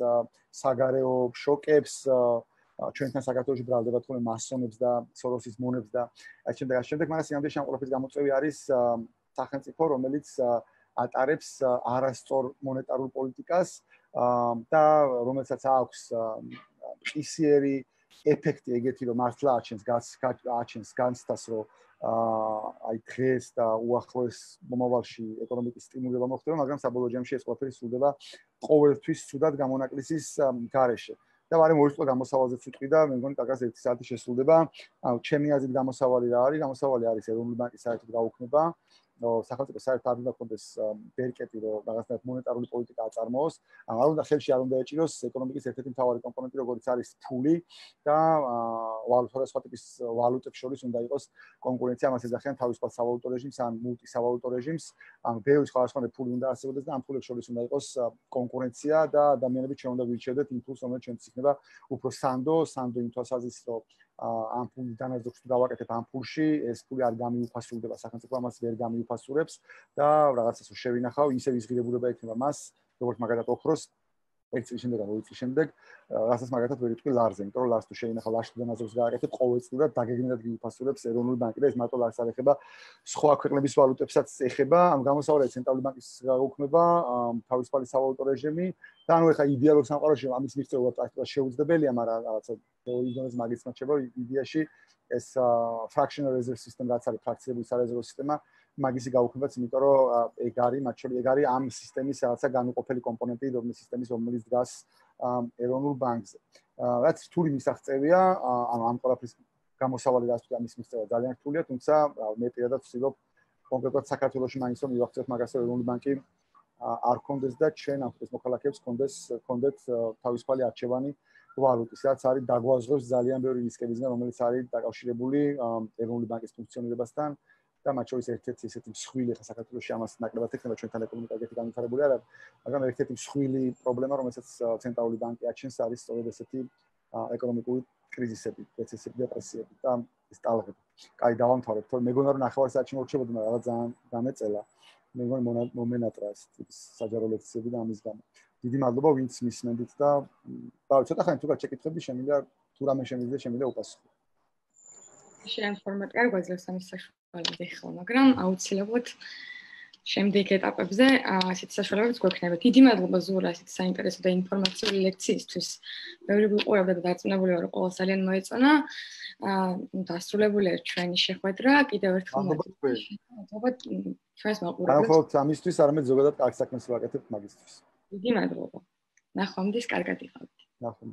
საგარეო შოკებს, ჩვენთან საქართველოში ბრალდებათ ხოლმე მასონებს და სოროსის მონებს და აი შემდეგ ამ შემდეგ, მაგრამ სინამდვილეში ამ ყველაფრის გამოწვევი არის სახელმწიფო, რომელიც ატარებს არასწორ მონეტარულ პოლიტიკას და რომელსაც აქვს ყისიერი ეფექტი ეგეთი რომ მართლა აჩენს აჩენს განცდას რომ აი დღეს და უახლოეს მომავალში ეკონომიკის სტიმულირება მოხდება, მაგრამ საბოლოო ჯამში ეს ყველაფერი სრულდება ყოველთვის ცუდად გამონაკლისის გარეშე. და ვარემ ორი წუთი გამოსავალზეც ვიტყვი და მე მგონი კაკას ერთი საათი შესრულდება. ანუ ჩემი აზრით გამოსავალი რა არის? გამოსავალი არის ეროვნული ბანკის საერთოდ გაუქმება. სახელმწიფო საერთოდ არ უნდა ქონდეს ბერკეტი, რომ რაღაცნაირად მონეტარული პოლიტიკა აწარმოოს. ანუ არ უნდა ხელში არ უნდა ეჭიროს ეკონომიკის ერთ-ერთი მთავარი კომპონენტი, როგორც არის ფული და ვალუტა ტიპის ვალუტებს შორის უნდა იყოს კონკურენცია, ამას ეძახიან თავისუფალ სავალუტო რეჟიმს ან მულტისავალუტო რეჟიმს. ანუ ბევრი სხვადასხვა ფული უნდა არსებობდეს და ამ ფულებს შორის უნდა იყოს კონკურენცია და ადამიანები ჩვენ უნდა ვირჩევდეთ იმ ფულს, რომელიც ჩვენთვის იქნება უფრო სანდო, სანდო იმ თვალსაზრისით, რომ ამ ფულის დანაზოგს თუ გავაკეთებ ამ ფულში, ეს ფული არ გამიუფასურდება, სახელმწიფო ამას ვერ გამიუფასურებს და რაღაცას შევინახავ, ისევ იზღირებულება ექნება მას, როგორც მაგალითად ოქროს ერთ წლის შემდეგ ან ორი წლის შემდეგ, რასაც მაგალითად ვერ იტყვი ლარზე, იმიტომ რომ ლარს თუ შევინახავ ლარს თუ დანაზოგს გააკეთებ, ყოველწლიურად დაგეგმილად გიუფასურებს ეროვნული ბანკი და ეს მარტო ლარს არ ეხება, სხვა ქვეყნების ვალუტებსაც ეხება, ამ გამოსავალებით ცენტრალური ბანკის გაუქმება, თავისუფალი სავალუტო რეჟიმი და ანუ ეხა იდეალურ სამყაროში ამის მიღწევა პრაქტიკულად შეუძლებელია, მაგრამ რაღაცა თეორიის დონეზე მაგის მოჩება იდეაში ეს fractional reserve system რაც არის ფრაქციული სარეზერვო სისტემა მაგისი გაუქმებაც, იმიტომ რომ ეგ არის, მათ შორის ეგ არის ამ სისტემის რაღაცა განუყოფელი კომპონენტი, რომელიც სისტემის რომელიც დგას ეროვნულ ბანკზე. რაც რთული მისაღწევია, ანუ ამ ყველაფრის გამოსავალი და ასე ამის მიღწევა ძალიან რთულია, თუმცა მე პირადად ვცდილობ კონკრეტულად საქართველოში მაინც რომ მივახცევთ მაგას, რომ ეროვნული ბანკი არ კონდეს და ჩვენ ამ ეს მოქალაქეებს კონდეს კონდეთ თავისუფალი არჩევანი ვალუტის, რაც არის დაგვაზღებს ძალიან ბევრი რისკებისგან, რომელიც არის დაკავშირებული ეროვნული ბანკის ფუნქციონირებასთან და მათ შორის ერთ-ერთი ესეთი მსხვილი ხა საქართველოში ამას ნაკლებად ექნება ჩვენთან ეკონომიკა განვითარებული არ არის, მაგრამ ერთ-ერთი მსხვილი პრობლემა, რომელსაც ცენტრალური ბანკი აჩენს, არის სწორედ ესეთი ეკონომიკური კრიზისები, რეცესიები, დეპრესიები და ეს ტალღები. კაი, დავამთავრებ, თორე მეგონა რომ ნახევარსაათში მორჩებოდი, მაგრამ რაღაც ძალიან დამეწელა. მე მგონი მომენატრა ეს საჯარო ლექციები და ამის გამო. დიდი მადლობა ვინც მისმენდით და ბავშვი ცოტა ხანი თუ გაჩეკითხები შემიძლია თუ რამე შემიძლია შემიძლია უპასუხო. შენ ფორმატ კარგვაძლევს ამის საშუალებას ეხლა, მაგრამ აუცილებლად შემდეგ ეტაპებზე ასეთ საშუალებებს გვექნება. დიდი მადლობა ზურა ასეთ საინტერესო და ინფორმაციული ლექციისთვის. ბევრი ვიყურავდა და დარწმუნებული ვარ, რომ ყველას ძალიან მოეწონა. აა დასრულებულია ჩვენი შეხვედრა. კიდევ ერთხელ მადლობა ჩვენს მაყურებლებს. არა მხოლოდ ამისთვის, არამედ ზოგადად კარგ საქმეს ვაკეთებთ მაგისთვის. დიდი მადლობა. ნახვამდის, კარგად იყავით. ნახვამდის.